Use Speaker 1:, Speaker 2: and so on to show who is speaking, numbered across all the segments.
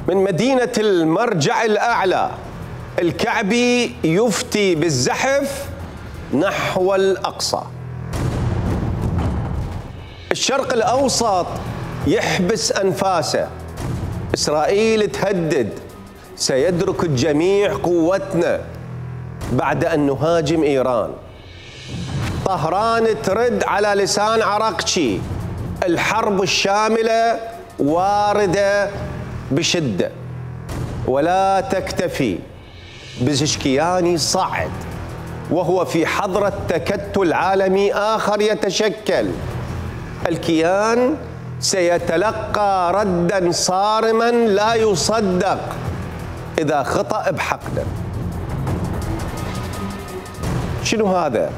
Speaker 1: من مدينة المرجع الأعلى الكعبي يفتي بالزحف نحو الأقصى. الشرق الأوسط يحبس أنفاسه. إسرائيل تهدد سيدرك الجميع قوتنا بعد أن نهاجم إيران. طهران ترد على لسان عراقشي الحرب الشاملة واردة بشدة، ولا تكتفي. بزشكياني صعد وهو في حضرة تكتل عالمي آخر يتشكل. الكيان سيتلقى ردا صارما لا يصدق إذا خطأ بحقنا. شنو هذا؟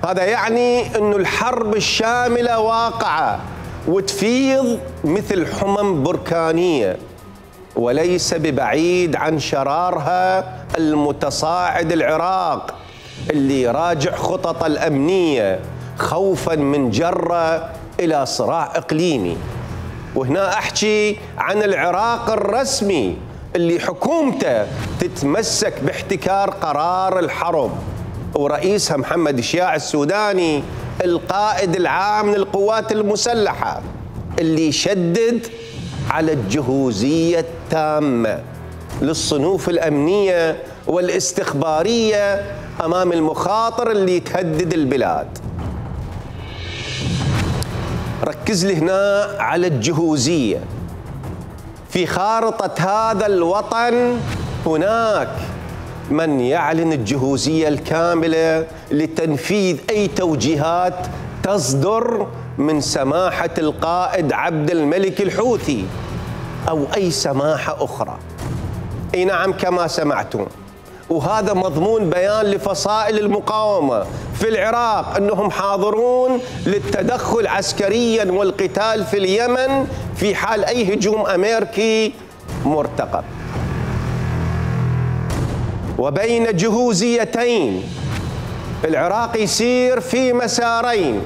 Speaker 1: هذا يعني أن الحرب الشاملة واقعة وتفيض مثل حمم بركانية، وليس ببعيد عن شرارها المتصاعد العراق اللي يراجع خطط الأمنية خوفا من جرة إلى صراع إقليمي. وهنا أحكي عن العراق الرسمي اللي حكومته تتمسك باحتكار قرار الحرب، ورئيسها محمد شياع السوداني القائد العام للقوات المسلحة اللي شدد على الجهوزية التامة للصنوف الأمنية والاستخبارية أمام المخاطر اللي تهدد البلاد. ركز لي هنا على الجهوزية. في خارطة هذا الوطن هناك من يعلن الجهوزية الكاملة لتنفيذ أي توجيهات تصدر من سماحة القائد عبد الملك الحوثي أو أي سماحة أخرى. أي نعم كما سمعتم، وهذا مضمون بيان لفصائل المقاومة في العراق أنهم حاضرون للتدخل عسكريا والقتال في اليمن في حال أي هجوم أمريكي مرتقب. وبين جهوزيتين العراق يسير في مسارين: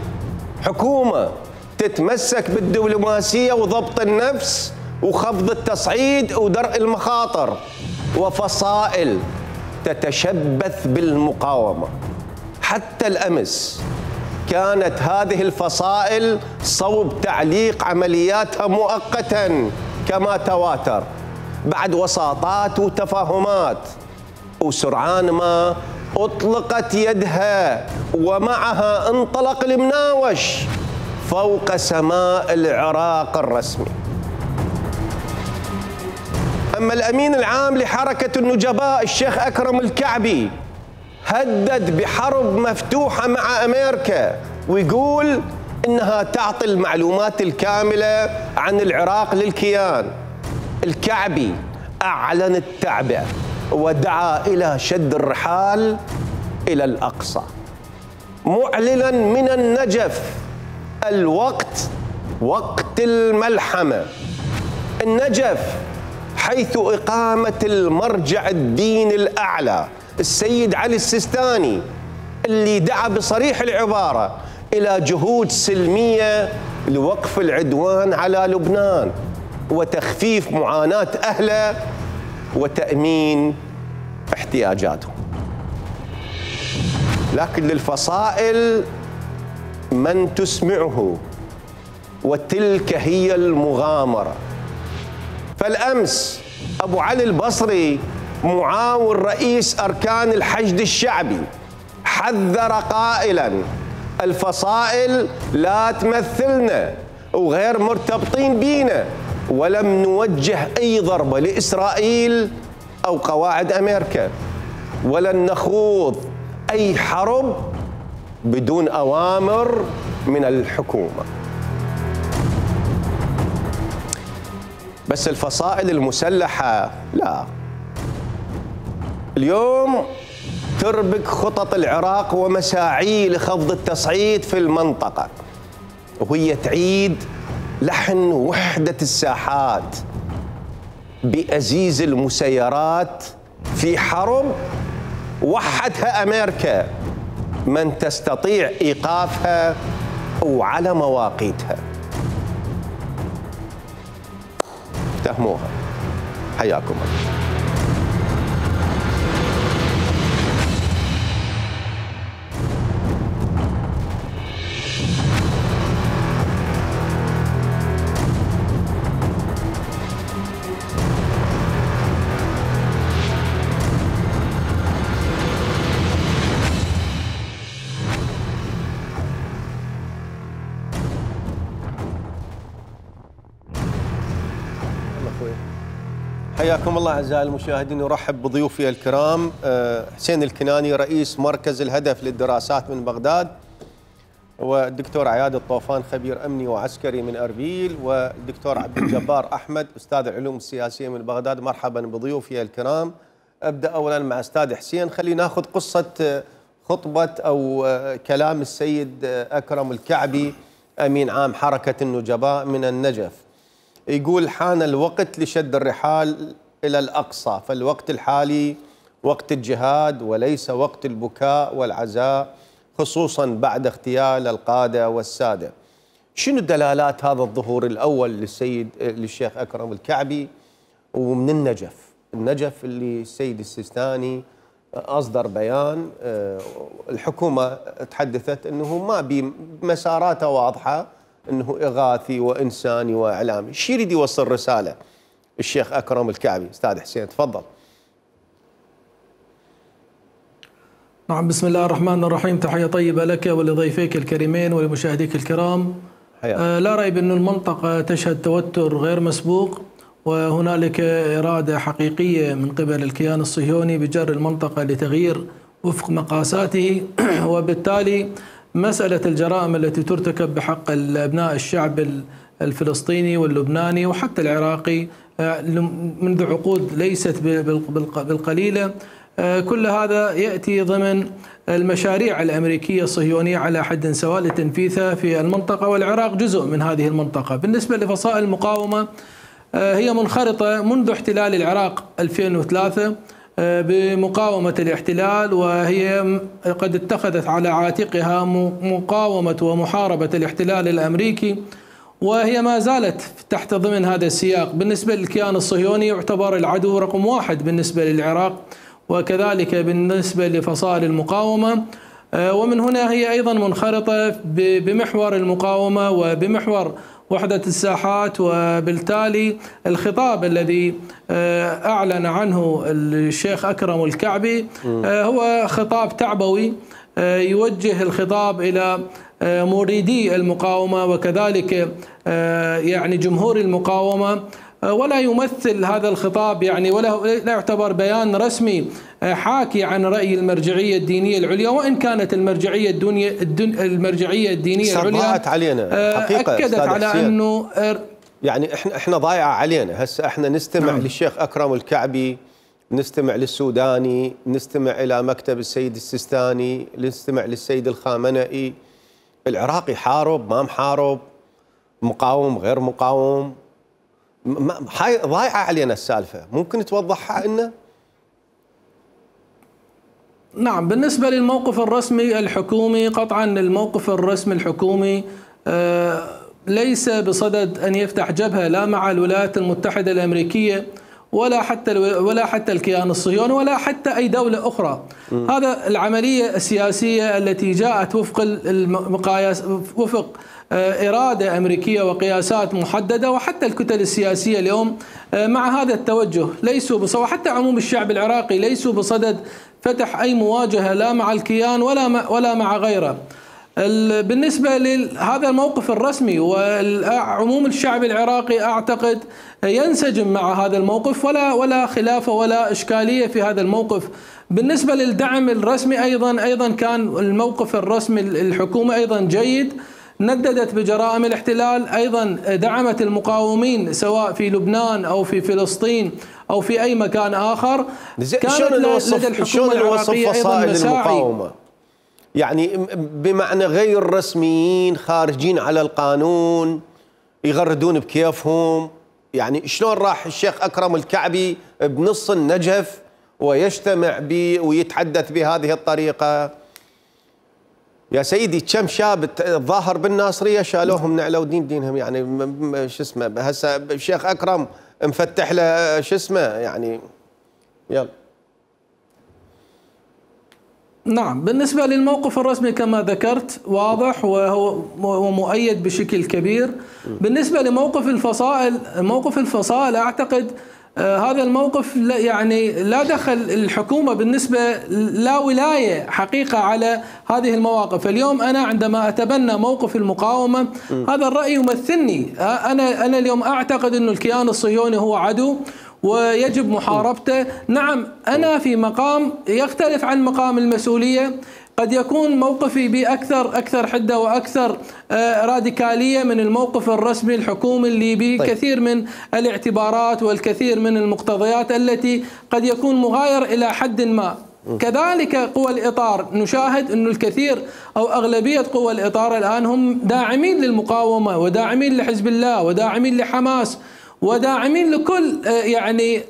Speaker 1: حكومة تتمسك بالدبلوماسية وضبط النفس وخفض التصعيد ودرء المخاطر، وفصائل تتشبث بالمقاومة. حتى الأمس كانت هذه الفصائل صوب تعليق عملياتها مؤقتا كما تواتر بعد وساطات وتفاهمات، وسرعان ما أطلقت يدها ومعها انطلق المناوش فوق سماء العراق الرسمي. أما الأمين العام لحركة النجباء الشيخ أكرم الكعبي هدد بحرب مفتوحة مع أمريكا، ويقول إنها تعطي المعلومات الكاملة عن العراق للكيان. الكعبي أعلن التعبئة ودعا إلى شد الرحال إلى الأقصى، معلنا من النجف الوقت وقت الملحمة. النجف حيث إقامة المرجع الديني الأعلى السيد علي السيستاني اللي دعا بصريح العبارة إلى جهود سلمية لوقف العدوان على لبنان وتخفيف معاناة أهله وتأمين احتياجاتهم. لكن للفصائل من تسمعه، وتلك هي المغامرة. فالأمس أبو علي البصري معاون رئيس أركان الحشد الشعبي حذر قائلا: الفصائل لا تمثلنا وغير مرتبطين بينا، ولم نوجه أي ضربة لإسرائيل أو قواعد أمريكا، ولن نخوض أي حرب بدون أوامر من الحكومة. بس الفصائل المسلحة لا، اليوم تربك خطط العراق ومساعيه لخفض التصعيد في المنطقة، وهي تعيد لحن وحدة الساحات بأزيز المسيرات في حرب وحدها أمريكا من تستطيع إيقافها وعلى مواقيتها. افتهموها. حياكم الله. حياكم الله اعزائي المشاهدين، ارحب بضيوفي الكرام حسين الكناني رئيس مركز الهدف للدراسات من بغداد، والدكتور عياد الطوفان خبير امني وعسكري من اربيل، والدكتور عبد الجبار احمد استاذ العلوم السياسيه من بغداد. مرحبا بضيوفي الكرام. ابدا اولا مع استاذ حسين، خلينا ناخذ قصه خطبه او كلام السيد اكرم الكعبي امين عام حركه النجباء من النجف. يقول: حان الوقت لشد الرحال إلى الأقصى، فالوقت الحالي وقت الجهاد وليس وقت البكاء والعزاء، خصوصا بعد اغتيال القادة والسادة. شنو دلالات هذا الظهور الأول للشيخ أكرم الكعبي ومن النجف اللي السيد السيستاني أصدر بيان، الحكومة تحدثت أنه ما بمساراته واضحة، انه اغاثي وانساني واعلامي. شو يريد يوصل رساله الشيخ اكرم الكعبي؟ استاذ حسين تفضل.
Speaker 2: نعم، بسم الله الرحمن الرحيم. تحيه طيبه لك ولضيفيك الكريمين ولمشاهديك الكرام. لا ريب أن المنطقه تشهد توتر غير مسبوق، وهنالك اراده حقيقيه من قبل الكيان الصهيوني بجر المنطقه لتغيير وفق مقاساته، وبالتالي مسألة الجرائم التي ترتكب بحق أبناء الشعب الفلسطيني واللبناني وحتى العراقي منذ عقود ليست بالقليلة، كل هذا يأتي ضمن المشاريع الأمريكية الصهيونية على حد سواء لتنفيذها في المنطقة، والعراق جزء من هذه المنطقة. بالنسبة لفصائل المقاومة، هي منخرطة منذ احتلال العراق 2003 بمقاومة الاحتلال، وهي قد اتخذت على عاتقها مقاومة ومحاربة الاحتلال الأمريكي، وهي ما زالت تحت ضمن هذا السياق. بالنسبة للكيان الصهيوني يعتبر العدو رقم 1 بالنسبة للعراق، وكذلك بالنسبة لفصائل المقاومة، ومن هنا هي أيضا منخرطة بمحور المقاومة وبمحور وحدة الساحات. وبالتالي الخطاب الذي أعلن عنه الشيخ أكرم الكعبي هو خطاب تعبوي، يوجه الخطاب إلى مريدي المقاومة وكذلك يعني جمهور المقاومة، ولا يمثل هذا الخطاب يعني ولا يعتبر بيان رسمي حاكي عن رأي المرجعية الدينية العليا، وإن كانت المرجعية الدينية العليا
Speaker 1: علينا حقيقة
Speaker 2: أكدت على أنه
Speaker 1: يعني احنا ضايعة علينا. هسه احنا نستمع للشيخ أكرم الكعبي، نستمع للسوداني، نستمع إلى مكتب السيد السيستاني، نستمع للسيد الخامنئي. العراقي حارب ما محارب، مقاوم غير مقاوم، ضايعة علينا السالفة. ممكن توضحها لنا؟
Speaker 2: نعم، بالنسبة للموقف الرسمي الحكومي، قطعا الموقف الرسمي الحكومي ليس بصدد أن يفتح جبهة لا مع الولايات المتحدة الأمريكية ولا حتى الكيان الصهيوني ولا حتى أي دولة أخرى. هذا العملية السياسية التي جاءت وفق المقاييس، وفق إرادة أمريكية وقياسات محددة، وحتى الكتل السياسية اليوم مع هذا التوجه ليسوا بصدد، حتى عموم الشعب العراقي ليسوا بصدد فتح أي مواجهة لا مع الكيان ولا مع غيره. بالنسبة لهذا الموقف الرسمي وعموم الشعب العراقي أعتقد ينسجم مع هذا الموقف، ولا خلاف ولا إشكالية في هذا الموقف. بالنسبة للدعم الرسمي أيضا كان الموقف الرسمي الحكومة أيضا جيد، نددت بجرائم الاحتلال، أيضا دعمت المقاومين سواء في لبنان أو في فلسطين أو في أي مكان آخر.
Speaker 1: كانت لدى الحكومة العراقية أيضا مساعي، يعني بمعنى غير رسميين خارجين على القانون يغردون بكيفهم. يعني شلون راح الشيخ أكرم الكعبي بنص النجف ويجتمع ويتحدث بهذه الطريقة؟ يا سيدي كم شاب الظاهر بالناصرية شالوهم نعلوا دينهم، يعني شو اسمه. هسه الشيخ أكرم مفتح له شو اسمه يعني. يلا.
Speaker 2: نعم، بالنسبة للموقف الرسمي كما ذكرت واضح وهو مؤيد بشكل كبير. بالنسبة لموقف الفصائل، موقف الفصائل أعتقد هذا الموقف يعني لا دخل الحكومة بالنسبة، لا ولاية حقيقة على هذه المواقف. اليوم أنا عندما أتبنى موقف المقاومة هذا الرأي يمثلني. أنا اليوم أعتقد أن الكيان الصهيوني هو عدو ويجب محاربته. نعم، أنا في مقام يختلف عن مقام المسؤولية، قد يكون موقفي بأكثر حدة وأكثر راديكالية من الموقف الرسمي الحكومي اللي به كثير من الاعتبارات والكثير من المقتضيات التي قد يكون مغاير إلى حد ما. كذلك قوى الإطار، نشاهد أن الكثير أو أغلبية قوى الإطار الآن هم داعمين للمقاومة وداعمين لحزب الله وداعمين لحماس وداعمين لكل يعني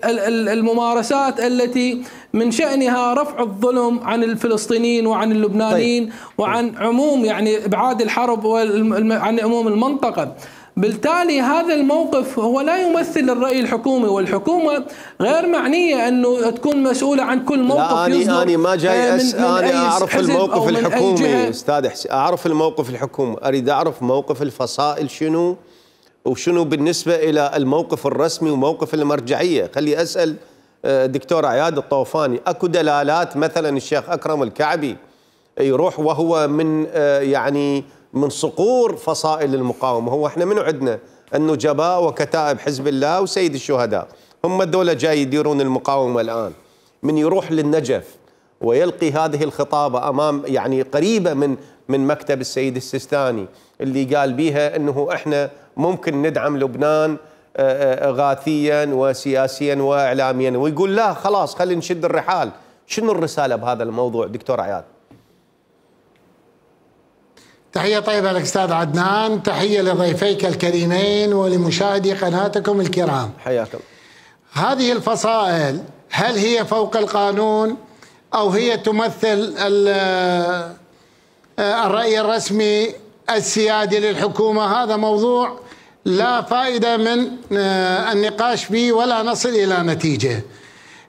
Speaker 2: الممارسات التي من شأنها رفع الظلم عن الفلسطينيين وعن اللبنانيين وعن عموم يعني إبعاد الحرب وعن عموم المنطقة. بالتالي هذا الموقف هو لا يمثل الرأي الحكومي، والحكومة غير معنية أنه تكون مسؤولة عن كل موقف يصدر.
Speaker 1: أنا ما جاي أنا أعرف الموقف الحكومي أستاذ حسين، أعرف الموقف الحكومي، أريد أعرف موقف الفصائل شنو وشنو بالنسبة إلى الموقف الرسمي وموقف المرجعية. خلي أسأل دكتور عياد الطوفاني، أكو دلالات مثلا الشيخ أكرم الكعبي يروح وهو من يعني من صقور فصائل المقاومة؟ هو احنا منو عندنا؟ النجباء وكتائب حزب الله وسيد الشهداء، هم الدولة جاي يديرون المقاومة الآن. من يروح للنجف ويلقي هذه الخطابة أمام يعني قريبة من مكتب السيد السيستاني اللي قال بيها أنه احنا ممكن ندعم لبنان غاثيا وسياسيا وإعلاميا، ويقول لا خلاص خلينا نشد الرحال. شنو الرسالة بهذا الموضوع دكتور عياد؟
Speaker 3: تحية طيبة لك أستاذ عدنان، تحية لضيفيك الكريمين ولمشاهدي قناتكم الكرام.
Speaker 1: حياكم.
Speaker 3: هذه الفصائل هل هي فوق القانون أو هي تمثل الرأي الرسمي السيادي للحكومة؟ هذا موضوع لا فائدة من النقاش فيه ولا نصل إلى نتيجة.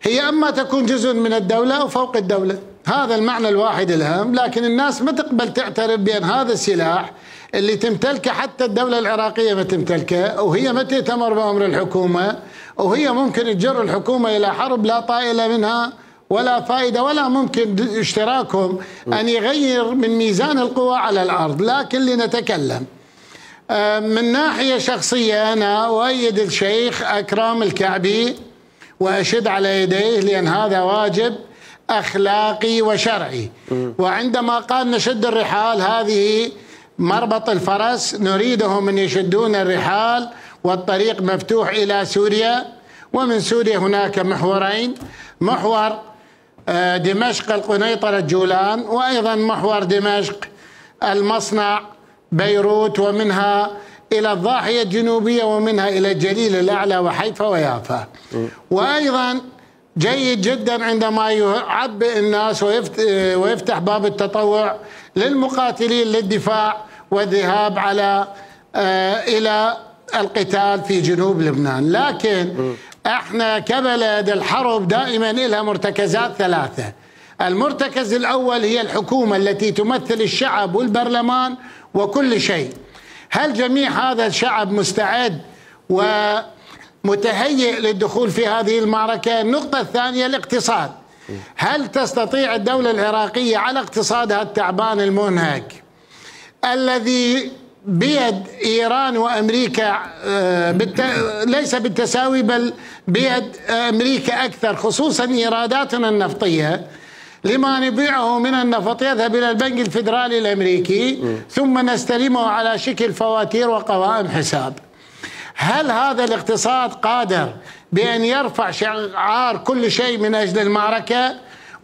Speaker 3: هي أما تكون جزء من الدولة أو فوق الدولة، هذا المعنى الواحد الهام. لكن الناس ما تقبل تعترف بأن هذا السلاح اللي تمتلكه حتى الدولة العراقية ما تمتلكه، وهي ما تأتمر بأمر الحكومة، وهي ممكن تجر الحكومة إلى حرب لا طائل منها ولا فائدة، ولا ممكن اشتراكهم أن يغير من ميزان القوى على الأرض. لكن لنتكلم من ناحية شخصية، أنا أؤيد الشيخ أكرم الكعبي وأشد على يديه، لأن هذا واجب أخلاقي وشرعي. وعندما قال نشد الرحال، هذه مربط الفرس، نريدهم أن يشدون الرحال والطريق مفتوح إلى سوريا. ومن سوريا هناك محورين، محور دمشق القنيطرة الجولان، وأيضا محور دمشق المصنع بيروت، ومنها إلى الضاحية الجنوبية، ومنها إلى الجليل الأعلى وحيفا ويافا. وأيضا جيد جدا عندما يعبئ الناس ويفتح باب التطوع للمقاتلين للدفاع والذهاب على إلى القتال في جنوب لبنان. لكن احنا كبلد الحرب دائما لها مرتكزات ثلاثة. المرتكز الأول هي الحكومة التي تمثل الشعب والبرلمان وكل شيء. هل جميع هذا الشعب مستعد ومتهيئ للدخول في هذه المعركة؟ النقطة الثانية الاقتصاد. هل تستطيع الدولة العراقية على اقتصادها التعبان المنهك الذي بيد إيران وأمريكا ليس بالتساوي بل بيد أمريكا أكثر، خصوصا إيراداتنا النفطية، لما نبيعه من النفط يذهب إلى البنك الفيدرالي الأمريكي ثم نستلمه على شكل فواتير وقوائم حساب. هل هذا الاقتصاد قادر بأن يرفع شعار كل شيء من أجل المعركة؟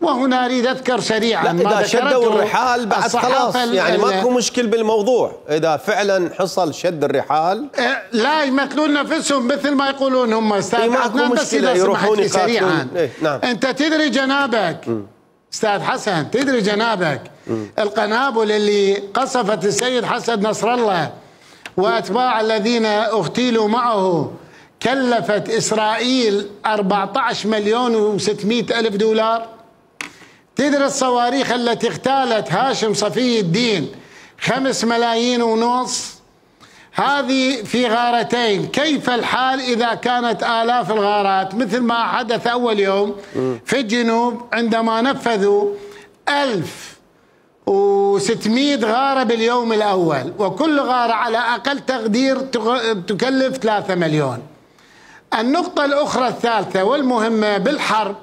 Speaker 3: وهنا أريد أذكر سريعا
Speaker 1: إذا شدوا الرحال بعد خلاص يعني ماكو مشكل بالموضوع. إذا فعلا حصل شد الرحال
Speaker 3: لا يمثلون نفسهم مثل ما يقولون هم أستاذ عدنان.
Speaker 1: بس إذا سمحت لي سريعا،
Speaker 3: نعم. أنت تدري جنابك أستاذ حسن، تدري جنابك القنابل اللي قصفت السيد حسن نصر الله وأتباع الذين اغتيلوا معه كلفت إسرائيل 14,600,000 دولار. تدري الصواريخ التي اغتالت هاشم صفي الدين 5 ملايين ونص، هذه في غارتين. كيف الحال إذا كانت آلاف الغارات مثل ما حدث أول يوم في الجنوب عندما نفذوا 1600 غارة باليوم الأول، وكل غارة على أقل تقدير تكلف 3 مليون. النقطة الأخرى الثالثة والمهمة بالحرب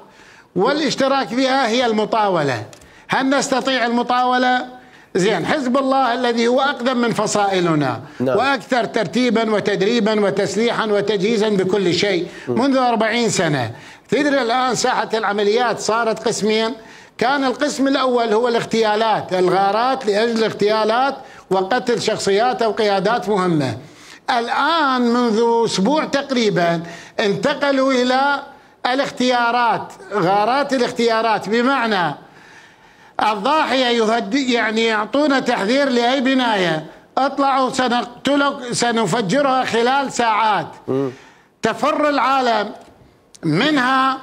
Speaker 3: والاشتراك بها هي المطاولة. هل نستطيع المطاولة؟ زين، حزب الله الذي هو أقدم من فصائلنا وأكثر ترتيبا وتدريبا وتسليحا وتجهيزا بكل شيء منذ 40 سنة. تدري الآن ساحة العمليات صارت قسمين. كان القسم الأول هو الاغتيالات، الغارات لأجل الاغتيالات وقتل شخصيات أو قيادات مهمة. الآن منذ أسبوع تقريبا انتقلوا إلى الاختيارات، غارات الاختيارات، بمعنى الضاحية يعني يعطونا تحذير لأي بناية، اطلعوا سنقتلك سنفجرها خلال ساعات. تفر العالم منها،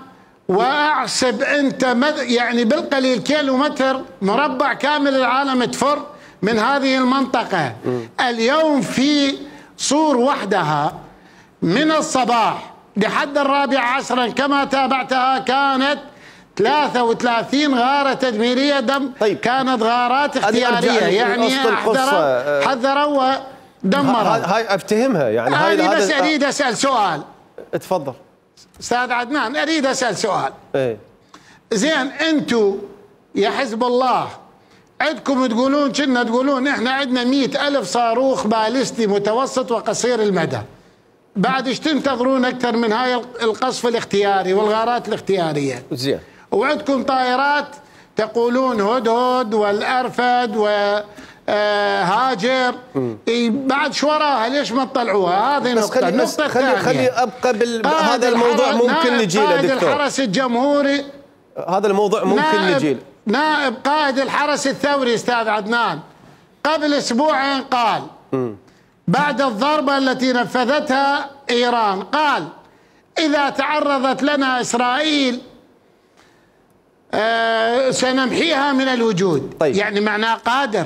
Speaker 3: واحسب انت يعني بالقليل كيلومتر مربع كامل العالم تفر من هذه المنطقة. اليوم في صور وحدها من الصباح لحد 14 كما تابعتها كانت 33 غارة تدميرية
Speaker 1: طيب.
Speaker 3: كانت غارات اختيارية، يعني حذروا ودمروا.
Speaker 1: هاي افتهمها يعني.
Speaker 3: هاي بس اريد اسال سؤال.
Speaker 1: اتفضل
Speaker 3: استاذ عدنان، اريد اسال سؤال.
Speaker 1: ايه
Speaker 3: زين، انتم يا حزب الله عندكم كنا تقولون احنا عندنا 100,000 صاروخ باليستي متوسط وقصير المدى، بعد ايش تنتظرون اكثر من هاي القصف الاختياري والغارات الاختياريه؟
Speaker 1: زين.
Speaker 3: وعندكم طائرات تقولون هدهد والارفد وهاجر، بعد شو وراها؟ ليش ما تطلعوها؟ هذه نقطه. النقطه الثانيه،
Speaker 1: خلي ابقى هذا الموضوع ممكن نجي له دكتور.
Speaker 3: قائد الحرس الجمهوري،
Speaker 1: هذا الموضوع ممكن نجي له.
Speaker 3: نائب قائد الحرس الثوري استاذ عدنان قبل اسبوعين قال بعد الضربة التي نفذتها إيران، قال إذا تعرضت لنا إسرائيل سنمحيها من الوجود.
Speaker 1: طيب.
Speaker 3: يعني معناه قادر،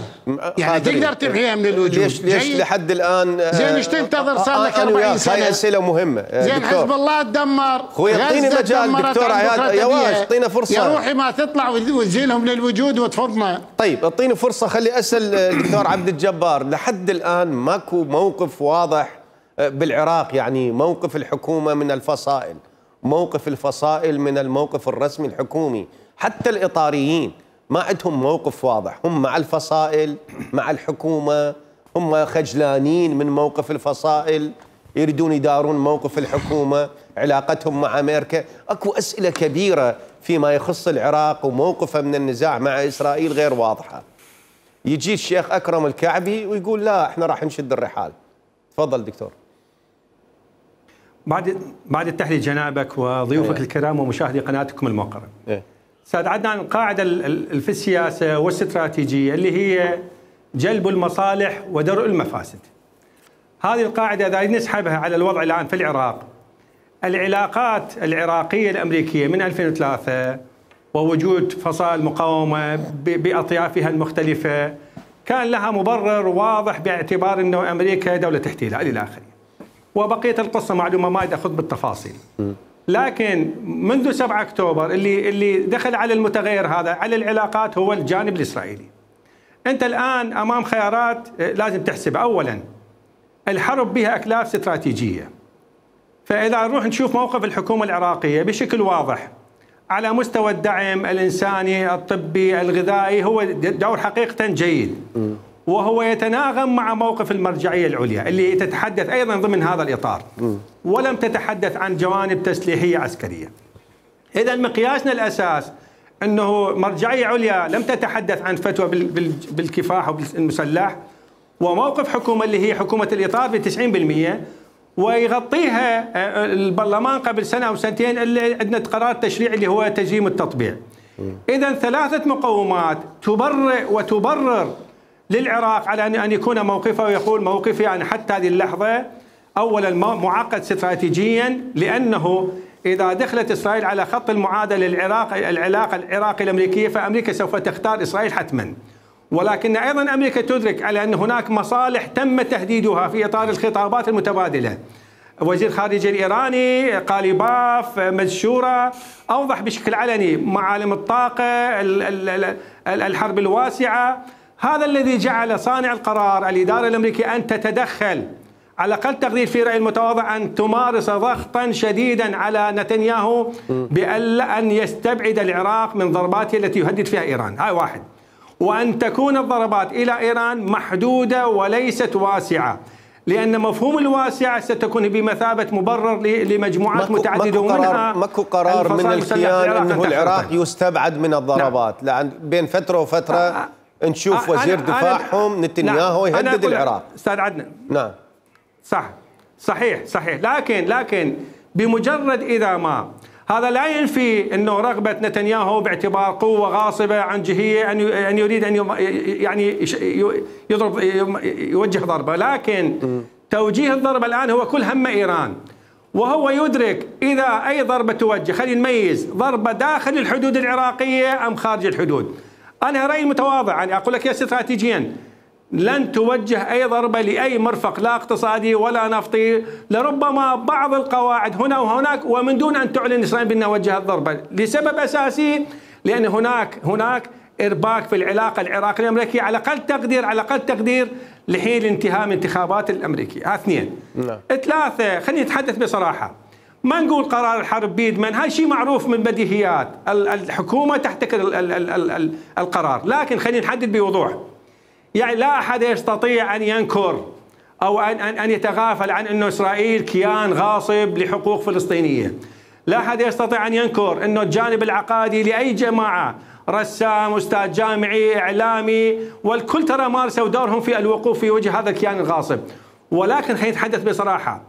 Speaker 3: يعني تقدر تمحيها من الوجود.
Speaker 1: ليش لحد الآن
Speaker 3: زين ايش تنتظر؟ صار لك 40 سنة.
Speaker 1: هاي أسئلة مهمة.
Speaker 3: زين
Speaker 1: دكتور.
Speaker 3: حزب الله تدمر،
Speaker 1: خوي اعطيني مجال دكتور عياد، يا واش اعطينا فرصة
Speaker 3: يا روحي ما تطلع وتزيلهم من الوجود وتفضنا.
Speaker 1: طيب اعطيني فرصة، خلي أسأل الدكتور عبد الجبار. لحد الآن ماكو موقف واضح بالعراق، يعني موقف الحكومة من الفصائل، موقف الفصائل من الموقف الرسمي الحكومي. حتى الإطاريين ما عندهم موقف واضح، هم مع الفصائل مع الحكومة، هم خجلانين من موقف الفصائل، يريدون يدارون موقف الحكومة، علاقتهم مع أمريكا. أكو أسئلة كبيرة فيما يخص العراق وموقفه من النزاع مع إسرائيل غير واضحة. يجي الشيخ أكرم الكعبي ويقول لا احنا راح نشد الرحال. تفضل دكتور.
Speaker 4: بعد التحية جنابك وضيوفك الكرام ومشاهدي قناتكم الموقرة. استاذ عدنان، القاعدة في السياسة والاستراتيجية اللي هي جلب المصالح ودرء المفاسد. هذه القاعدة إذا نسحبها على الوضع الآن في العراق، العلاقات العراقية الأمريكية من 2003 ووجود فصائل مقاومة بأطيافها المختلفة كان لها مبرر واضح باعتبار أنه أمريكا دولة احتلال إلى آخره، وبقية القصة معلومة ما أخذ بالتفاصيل. لكن منذ 7 أكتوبر اللي دخل على المتغير هذا على العلاقات هو الجانب الإسرائيلي. أنت الآن أمام خيارات لازم تحسبها. أولا الحرب بها أكلاف استراتيجية، فإذا نروح نشوف موقف الحكومة العراقية بشكل واضح على مستوى الدعم الإنساني الطبي الغذائي هو دور حقيقة جيد، وهو يتناغم مع موقف المرجعية العليا اللي تتحدث أيضا ضمن هذا الإطار، ولم تتحدث عن جوانب تسليحية عسكرية. إذا مقياسنا الأساس أنه مرجعية عليا لم تتحدث عن فتوى بالكفاح والمسلح، وموقف حكومة اللي هي حكومة الإطار ب 90%، ويغطيها البرلمان قبل سنة أو سنتين اللي عندنا قرار تشريعي اللي هو تجريم التطبيع. إذا 3 مقومات تبرئ وتبرر للعراق على أن يكون موقفه، ويقول موقفي أنا حتى هذه اللحظة أولا معقد استراتيجيا، لأنه إذا دخلت إسرائيل على خط المعادلة العلاقة العراقية الأمريكية فأمريكا سوف تختار إسرائيل حتما. ولكن أيضا أمريكا تدرك على أن هناك مصالح تم تهديدها في إطار الخطابات المتبادلة. وزير الخارجية الإيراني قاليباف مزشورة أوضح بشكل علني معالم الطاقة، الحرب الواسعة. هذا الذي جعل صانع القرار الإدارة الأمريكية أن تتدخل، على أقل تقدير في رأي المتواضع أن تمارس ضغطا شديدا على نتنياهو بأن يستبعد العراق من ضرباته التي يهدد فيها إيران. هاي واحد. وأن تكون الضربات إلى إيران محدودة وليست واسعة، لأن مفهوم الواسعة ستكون بمثابة مبرر لمجموعات متعددة، ومنها
Speaker 1: ماكو قرار من الكيان أنه العراق يستبعد من الضربات. نعم. لأن بين فترة وفترة نشوف وزير دفاعهم نتنياهو يهدد العراق.
Speaker 4: أستاذ عدنان،
Speaker 1: نعم
Speaker 4: صحيح لكن بمجرد إذا ما هذا لا ينفي أنه رغبة نتنياهو باعتبار قوة غاصبة عنجهية أن يريد أن يعني يضرب يوجه ضربة، لكن توجيه الضربة الآن هو كل هم إيران، وهو يدرك إذا أي ضربة توجه، خلينا نميز ضربة داخل الحدود العراقية أم خارج الحدود. أنا رأيي متواضع، يعني أقول لك استراتيجيا لن توجه أي ضربة لأي مرفق لا اقتصادي ولا نفطي، لربما بعض القواعد هنا وهناك، ومن دون أن تعلن إسرائيل بأنها وجهت ضربة، لسبب أساسي، لأن هناك إرباك في العلاقة العراقية الأمريكية على أقل تقدير لحين الانتهاء من انتخابات الأمريكية. اثنين. ثلاثة، خلينا نتحدث بصراحة، ما نقول قرار الحرب بيدمن، هاي شيء معروف من بديهيات، الحكومة تحتكر القرار، لكن خلينا نحدد بوضوح. يعني لا أحد يستطيع أن ينكر أو أن يتغافل عن أن إسرائيل كيان غاصب لحقوق فلسطينية. لا أحد يستطيع أن ينكر أنه الجانب العقادي لأي جماعة، رسام، أستاذ جامعي، إعلامي، والكل ترى مارسوا دورهم في الوقوف في وجه هذا الكيان الغاصب. ولكن خلينا نتحدث بصراحة،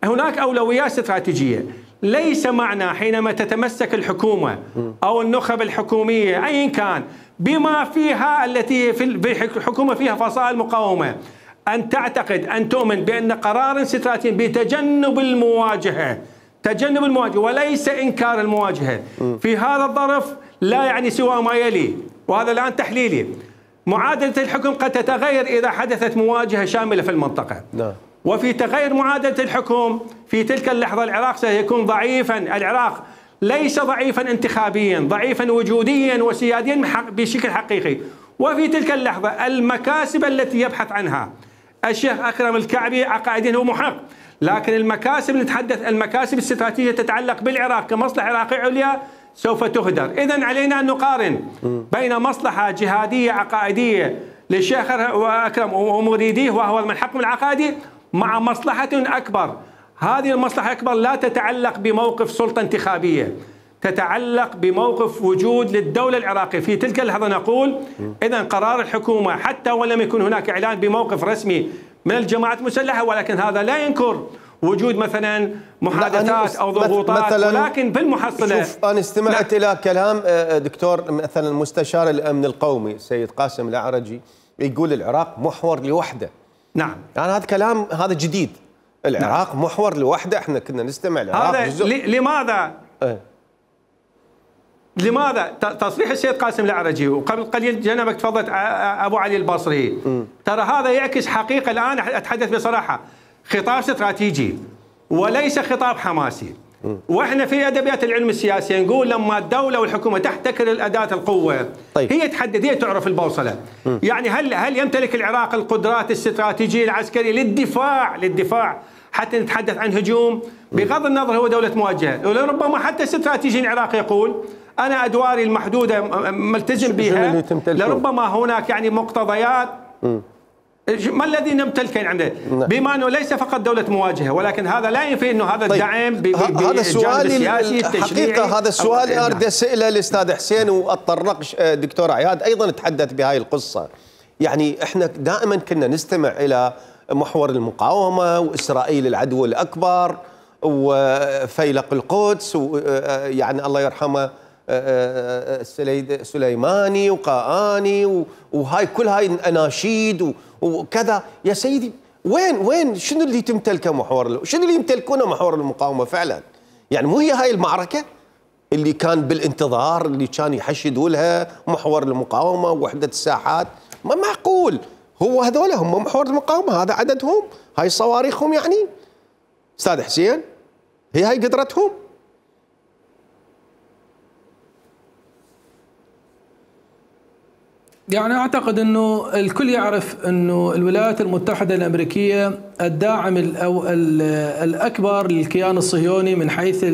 Speaker 4: هناك أولويات استراتيجية. ليس معنى حينما تتمسك الحكومة أو النخب الحكومية أيا كان بما فيها التي في الحكومة فيها فصائل مقاومة أن تعتقد أن تؤمن بأن قرار استراتيجي بتجنب المواجهة وليس إنكار المواجهة في هذا الظرف لا يعني سوى ما يلي، وهذا الآن تحليلي. معادلة الحكم قد تتغير إذا حدثت مواجهة شاملة في المنطقة. وفي تغير معادلة الحكم في تلك اللحظة العراق سيكون ضعيفا. العراق ليس ضعيفا انتخابيا، ضعيفا وجوديا وسياديا بشكل حقيقي. وفي تلك اللحظة المكاسب التي يبحث عنها الشيخ أكرم الكعبي عقائديا هو محق، لكن المكاسب نتحدث المكاسب الاستراتيجية تتعلق بالعراق كمصلحة عراقية عليا سوف تهدر. إذن علينا أن نقارن بين مصلحة جهادية عقائدية للشيخ أكرم ومريديه وهو المنحكم العقائدي مع مصلحة أكبر. هذه المصلحة الأكبر لا تتعلق بموقف سلطة انتخابية، تتعلق بموقف وجود للدولة العراقية. في تلك اللحظة نقول إذن قرار الحكومة حتى ولم يكن هناك إعلان بموقف رسمي من الجماعات المسلحة، ولكن هذا لا ينكر وجود مثلا محادثات أو ضغوطات، ولكن بالمحصلة
Speaker 1: شوف أنا استمعت إلى كلام دكتور مثلا مستشار الأمن القومي السيد قاسم الأعرجي يقول العراق محور لوحده.
Speaker 4: نعم،
Speaker 1: يعني هذا كلام هذا جديد، العراق محور لوحده. احنا كنا نستمع العراق
Speaker 4: هذا لماذا تصريح السيد قاسم الأعرجي وقبل قليل جنبك تفضلت أبو علي البصري، ترى هذا يعكس حقيقة. الآن أتحدث بصراحة، خطاب استراتيجي وليس خطاب حماسي. واحنا في ادبيات العلم السياسي نقول لما الدوله والحكومه تحتكر الاداه القوه هي تحدد، هي تعرف البوصله. يعني هل يمتلك العراق القدرات الاستراتيجيه العسكريه للدفاع حتى نتحدث عن هجوم؟ بغض النظر هو دوله مواجهه، ولربما حتى استراتيجي العراقي يقول انا ادواري المحدوده ملتزم بها، لربما هناك يعني مقتضيات ما الذي نمتلكه عندنا، بما انه ليس فقط دوله مواجهه، ولكن هذا لا ينفي انه هذا الدعم
Speaker 1: هذا السؤال
Speaker 4: السياسي التشريعي.
Speaker 1: حقيقه هذا السؤال اريد اساله الاستاذ حسين، واتطرق دكتور عياد ايضا تحدث بهاي القصه. يعني احنا دائما كنا نستمع الى محور المقاومه واسرائيل العدو الاكبر وفيلق القدس، ويعني الله يرحمه سليماني وقاآني وهاي كل هاي الأناشيد وكذا. يا سيدي وين شنو اللي تمتلكه محور، شنو اللي يمتلكونه محور المقاومه فعلا؟ يعني مو هي هاي المعركه اللي كان بالانتظار، اللي كان يحشدوا لها محور المقاومه ووحده الساحات؟ ما معقول هو هذول هم محور المقاومه، هذا عددهم، هاي صواريخهم يعني استاذ حسين، هاي قدرتهم.
Speaker 2: يعني اعتقد انه الكل يعرف انه الولايات المتحده الامريكيه الداعم الاكبر للكيان الصهيوني من حيث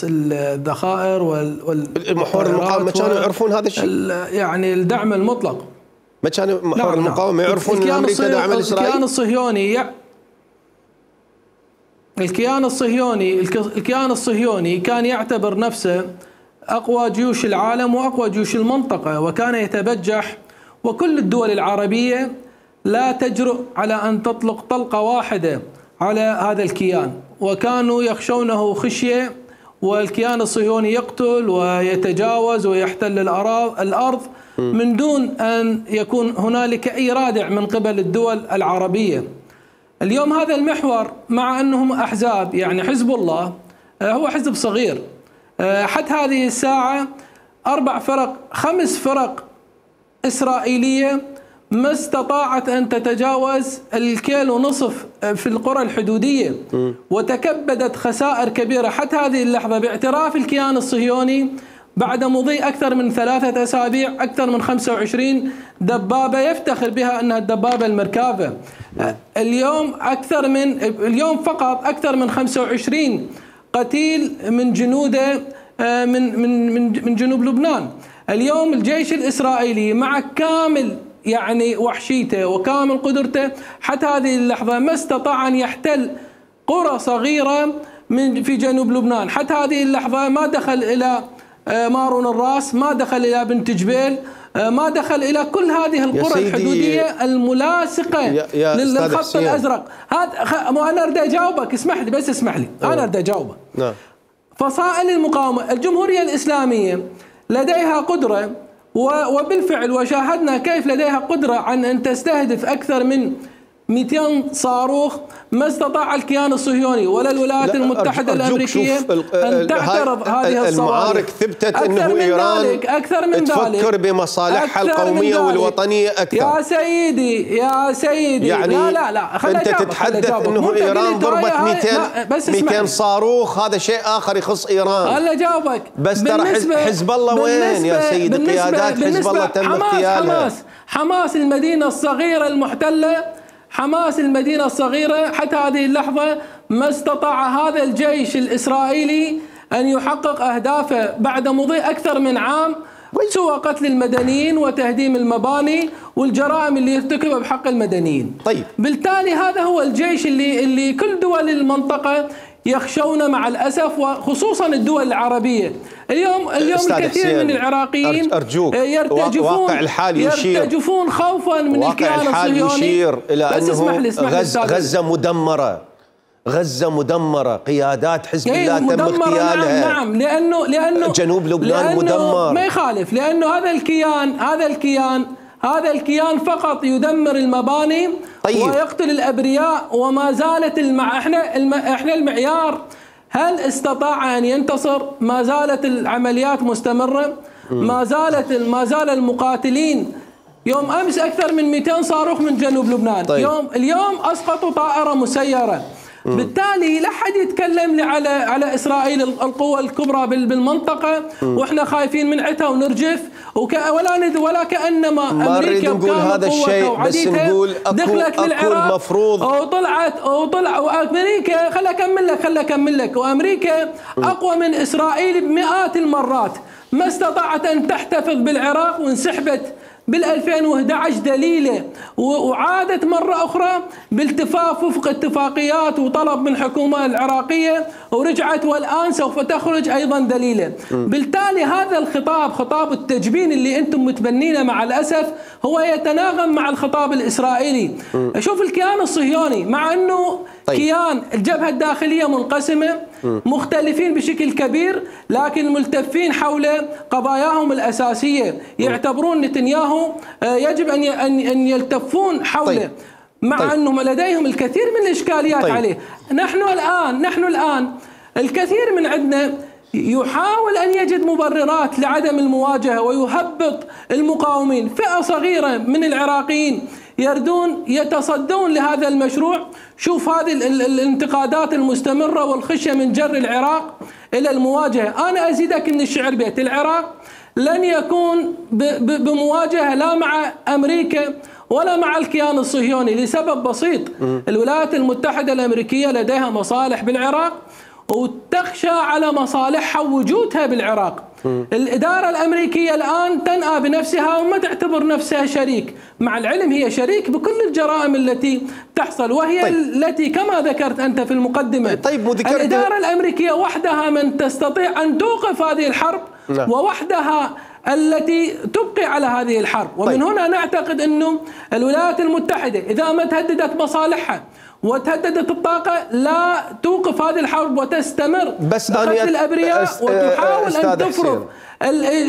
Speaker 2: الذخائر
Speaker 1: المحور المقاومه كانوا يعرفون هذا الشيء،
Speaker 2: يعني الدعم المطلق.
Speaker 1: ما كان محور المقاومه يعرفون ان امريكا داعمه لاسرائيل؟
Speaker 2: الكيان الصهيوني كان يعتبر نفسه أقوى جيوش العالم وأقوى جيوش المنطقة، وكان يتبجح، وكل الدول العربية لا تجرؤ على أن تطلق طلقة واحدة على هذا الكيان، وكانوا يخشونه خشية، والكيان الصهيوني يقتل ويتجاوز ويحتل الأرض من دون أن يكون هنالك أي رادع من قبل الدول العربية. اليوم هذا المحور مع أنهم أحزاب، يعني حزب الله هو حزب صغير، حتى هذه الساعة 5 فرق إسرائيلية ما استطاعت أن تتجاوز 1.5 كيلو في القرى الحدودية، وتكبدت خسائر كبيرة حتى هذه اللحظة باعتراف الكيان الصهيوني بعد مضي أكثر من 3 أسابيع أكثر من 25 دبابة يفتخر بها أنها الدبابة المركافة. اليوم فقط أكثر من 25 قتيل من جنوده من جنوب لبنان. اليوم الجيش الإسرائيلي مع كامل يعني وحشيته وكامل قدرته حتى هذه اللحظة ما استطاع أن يحتل قرى صغيرة في جنوب لبنان. حتى هذه اللحظة ما دخل إلى مارون الراس، ما دخل إلى بنت جبيل، ما دخل إلى كل هذه القرى الحدودية الملاصقة للخط الأزرق. أنا أريد أجاوبك، اسمح لي أنا أريد أجاوبك.
Speaker 1: نعم.
Speaker 2: فصائل المقاومة الجمهورية الإسلامية لديها قدرة، وبالفعل وشاهدنا كيف لديها قدرة عن أن تستهدف أكثر من 200 صاروخ. ما استطاع الكيان الصهيوني ولا الولايات المتحدة الأمريكية أن تعترض هذه الصواريخ.
Speaker 1: المعارك ثبتت أنه إيران تفكر بمصالحها القومية والوطنية أكثر.
Speaker 2: يا سيدي
Speaker 1: يعني لا أنت تتحدث أنه إيران ضربت 200 صاروخ، هذا شيء آخر يخص إيران.
Speaker 2: هلا جاوبك.
Speaker 1: بس ترى حزب الله وين يا سيدي؟ قيادات حزب الله تم اغتيالها.
Speaker 2: حماس المدينة الصغيرة المحتلة، حماس المدينة الصغيرة حتى هذه اللحظة ما استطاع هذا الجيش الإسرائيلي أن يحقق أهدافه بعد مضي أكثر من عام، سوى قتل المدنيين وتهديم المباني والجرائم اللي ارتكبها بحق المدنيين.
Speaker 1: طيب.
Speaker 2: بالتالي هذا هو الجيش اللي كل دول المنطقة يخشون مع الأسف، وخصوصا الدول العربية. اليوم الكثير من العراقيين يرتجفون خوفا من الكيان الصهيوني.
Speaker 1: يشير إلى أنه غزة مدمرة، قيادات حزب الله تم اغتيالها.
Speaker 2: نعم، لأنه
Speaker 1: جنوب لبنان مدمر.
Speaker 2: ما يخالف، لأنه هذا الكيان فقط يدمر المباني. طيب. ويقتل الأبرياء، وما زالت احنا المعيار هل استطاع أن ينتصر؟ ما زالت العمليات مستمرة، ما زال المقاتلين. يوم أمس أكثر من 200 صاروخ من جنوب لبنان. طيب. اليوم أسقطوا طائرة مسيرة. بالتالي لا حد يتكلم لي على إسرائيل القوة الكبرى بالمنطقة واحنا خايفين من عتها ونرجف ولا كأنما أمريكا
Speaker 1: نقول هذا الشيء، بس نقول
Speaker 2: دخلت للعراق
Speaker 1: المفروض
Speaker 2: وطلع وأمريكا. خلي أكمل لك. وأمريكا أقوى من إسرائيل بمئات المرات، ما استطاعت أن تحتفظ بالعراق وانسحبت بال2011 دليله، وعادت مرة أخرى بالتفاف وفق اتفاقيات وطلب من الحكومة العراقية ورجعت، والآن سوف تخرج أيضا دليله. بالتالي هذا الخطاب، خطاب التجبين اللي أنتم متبنينه مع الأسف، هو يتناغم مع الخطاب الإسرائيلي. شوف الكيان الصهيوني مع أنه كيان الجبهة الداخلية منقسمة، مختلفين بشكل كبير، لكن ملتفين حول قضاياهم الأساسية. يعتبرون نتنياهو يجب أن يلتفون حوله. مع أنهم لديهم الكثير من الإشكاليات عليه. نحن الآن الكثير من عندنا يحاول أن يجد مبررات لعدم المواجهة ويهبط المقاومين. فئة صغيرة من العراقيين يتصدون لهذا المشروع. شوف هذه الانتقادات المستمرة والخشية من جر العراق إلى المواجهة. أنا أزيدك من الشعر بيت: العراق لن يكون بمواجهة لا مع أمريكا ولا مع الكيان الصهيوني لسبب بسيط. الولايات المتحدة الأمريكية لديها مصالح بالعراق وتخشى على مصالحها ووجودها بالعراق. الإدارة الأمريكية الآن تنأى بنفسها وما تعتبر نفسها شريك، مع العلم هي شريك بكل الجرائم التي تحصل، وهي التي كما ذكرت أنت في المقدمة الإدارة الأمريكية وحدها من تستطيع أن توقف هذه الحرب ووحدها التي تبقي على هذه الحرب. ومن هنا نعتقد أنه الولايات المتحدة إذا ما تهددت مصالحها وتهددت الطاقة لا توقف هذه الحرب وتستمر بقتل الأبرياء وتحاول أن تفرض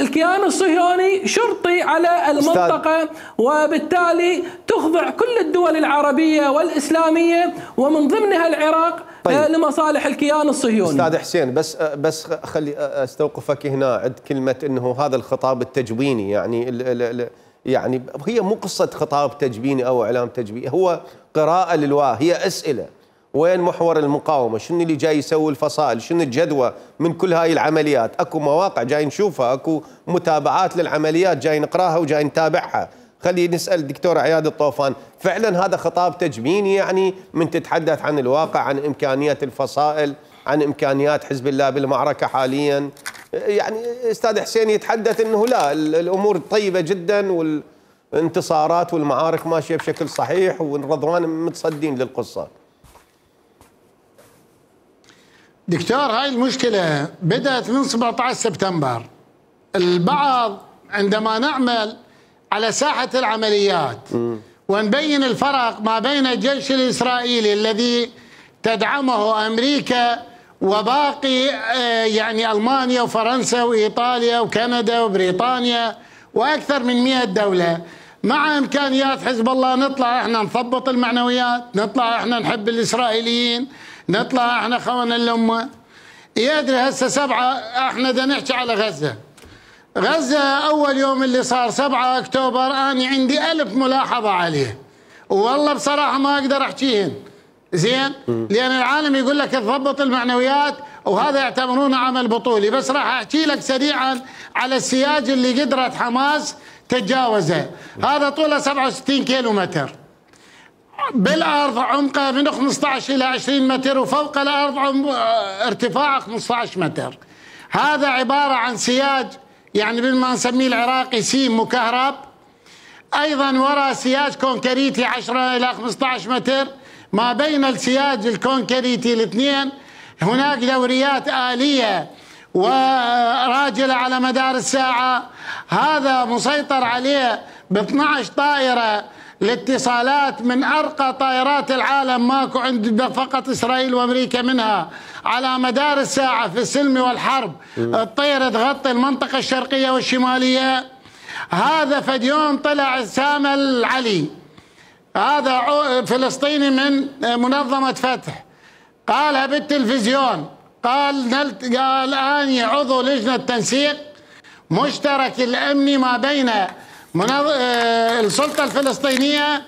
Speaker 2: الكيان الصهيوني شرطي على المنطقة، وبالتالي تخضع كل الدول العربية والإسلامية ومن ضمنها العراق لمصالح الكيان الصهيوني.
Speaker 1: أستاذ حسين، بس خلي أستوقفك هنا عند كلمة أنه هذا الخطاب التجويني، يعني هي مو قصة خطاب تجبيني أو إعلام تجبيني، هو قراءة للواقع، هي أسئلة. وين محور المقاومة؟ شنو اللي جاي يسوي الفصائل؟ شنو الجدوى من كل هاي العمليات؟ أكو مواقع جاي نشوفها، أكو متابعات للعمليات جاي نقراها وجاي نتابعها. خلينا نسأل الدكتور عياد الطوفان، فعلا هذا خطاب تجبيني يعني من تتحدث عن الواقع، عن إمكانيات الفصائل، عن إمكانيات حزب الله بالمعركة حاليا؟ يعني أستاذ حسين يتحدث أنه لا، الأمور طيبة جدا والانتصارات والمعارك ماشية بشكل صحيح والرضوان متصدين للقصة.
Speaker 3: دكتور، هاي المشكلة بدأت من 17 سبتمبر. البعض عندما نعمل على ساحة العمليات ونبين الفرق ما بين الجيش الإسرائيلي الذي تدعمه أمريكا وباقي يعني ألمانيا وفرنسا وإيطاليا وكندا وبريطانيا وأكثر من 100 دولة، مع إمكانيات حزب الله، نطلع إحنا نثبط المعنويات، نطلع إحنا نحب الإسرائيليين، نطلع إحنا خونة الأمة. يدري هسه 7 إحنا بدنا نحكي على غزة. غزة أول يوم اللي صار 7 أكتوبر أنا عندي 1000 ملاحظة عليه، والله بصراحة ما أقدر أحكيهن زين، لأن العالم يقول لك تضبط المعنويات وهذا يعتبرونه عمل بطولي. بس راح أحكي لك سريعا على السياج اللي قدرت حماس تتجاوزه. هذا طوله 67 كيلو متر، بالأرض عمقه من 15 إلى 20 متر، وفوق الأرض ارتفاعه 15 متر. هذا عبارة عن سياج يعني بالما نسميه العراقي سيم مكهرب، أيضا وراء سياج كونكريتي 10 إلى 15 متر. ما بين السياج الكونكريتي الاثنين هناك دوريات آلية وراجلة على مدار الساعة. هذا مسيطر عليه ب 12 طائرة الاتصالات من أرقى طائرات العالم، ماكو عند فقط إسرائيل وأمريكا منها. على مدار الساعة في السلم والحرب الطير تغطي المنطقة الشرقية والشمالية. هذا فد يوم طلع سامة العلي، هذا فلسطيني من منظمة فتح، قالها بالتلفزيون، قال أني عضو لجنة تنسيق مشترك الأمني ما بين السلطة الفلسطينية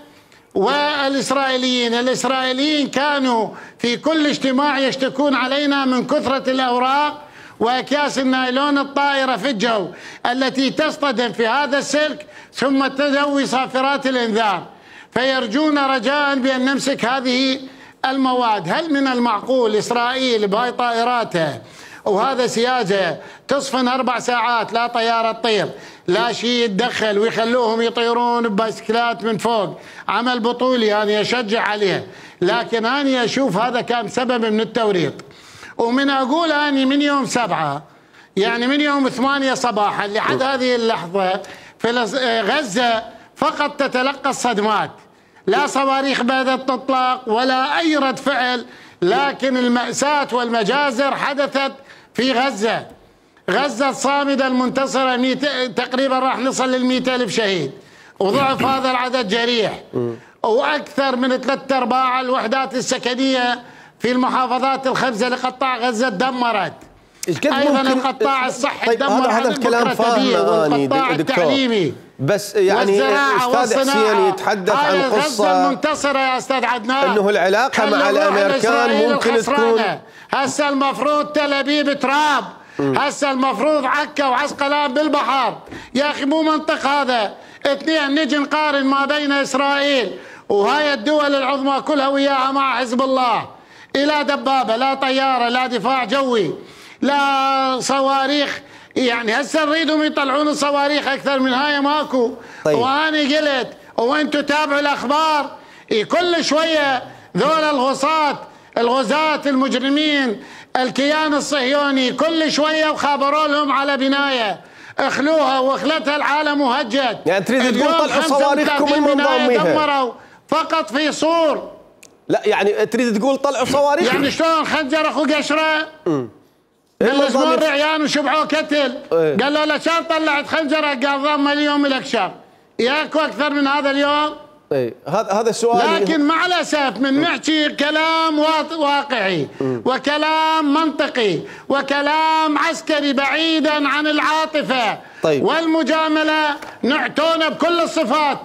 Speaker 3: والإسرائيليين. الإسرائيليين كانوا في كل اجتماع يشتكون علينا من كثرة الأوراق وأكياس النايلون الطائرة في الجو التي تصطدم في هذا السلك ثم تدوي صافرات الإنذار، فيرجون رجاء بأن نمسك هذه المواد. هل من المعقول إسرائيل بهاي طائراتها وهذا سياجه تصفن 4 ساعات لا طيارة تطير لا شيء يتدخل ويخلوهم يطيرون ببايسكلات من فوق؟ عمل بطولي أنا أشجع عليه، لكن أنا أشوف هذا كان سبب من التوريط. ومن أقول أني من يوم 7 يعني من يوم 8 صباحا لحد هذه اللحظة في غزة فقط تتلقى الصدمات، لا صواريخ بدأت تطلق ولا أي رد فعل، لكن المأساة والمجازر حدثت في غزة. غزة الصامدة المنتصرة تقريبا راح نصل لل100,000 شهيد، وضعف هذا العدد جريح، وأكثر من 3/4 الوحدات السكنية في المحافظات الخمسة لقطاع غزة دمرت. أيضا القطاع الصحي دمر
Speaker 1: هذا الكلام فاهمه أني
Speaker 3: والقطاع التعليمي
Speaker 1: بس يعني أستاذ حسين يتحدث عن قصة
Speaker 3: المنتصرة يا أستاذ عدنان،
Speaker 1: أنه العلاقة مع الأمريكان ممكن تكون
Speaker 3: هسه المفروض تل أبيب تراب، هسه المفروض عكا وعسقلان بالبحر. يا أخي مو منطق هذا. اثنين نجي نقارن ما بين إسرائيل وهاي الدول العظمى كلها وياها مع حزب الله، لا دبابة لا طيارة لا دفاع جوي لا صواريخ. يعني هسه نريدهم يطلعون الصواريخ اكثر من هاي ماكو.
Speaker 1: طيب.
Speaker 3: وانا قلت وانتم تابعوا الاخبار كل شويه ذول الغزاة المجرمين الكيان الصهيوني كل شويه وخابروا لهم على بنايه اخلوها واخلتها العالم مهجد.
Speaker 1: يعني تريد تقول طلعوا صواريخكم المنظميها
Speaker 3: دمروا فقط في صور.
Speaker 1: لا يعني تريد تقول طلعوا صواريخ
Speaker 3: يعني شلون خنجر اخو قشره بالزمور رعيان وشبعوه كتل. قال له لشان طلعت خنجره قال ضم اليوم لك شر. ياكو اكثر من هذا اليوم؟
Speaker 1: هذا السؤال.
Speaker 3: لكن مع الاسف من نحكي كلام واقعي وكلام منطقي وكلام عسكري بعيدا عن العاطفه.
Speaker 1: طيب.
Speaker 3: والمجامله نعتونا بكل الصفات.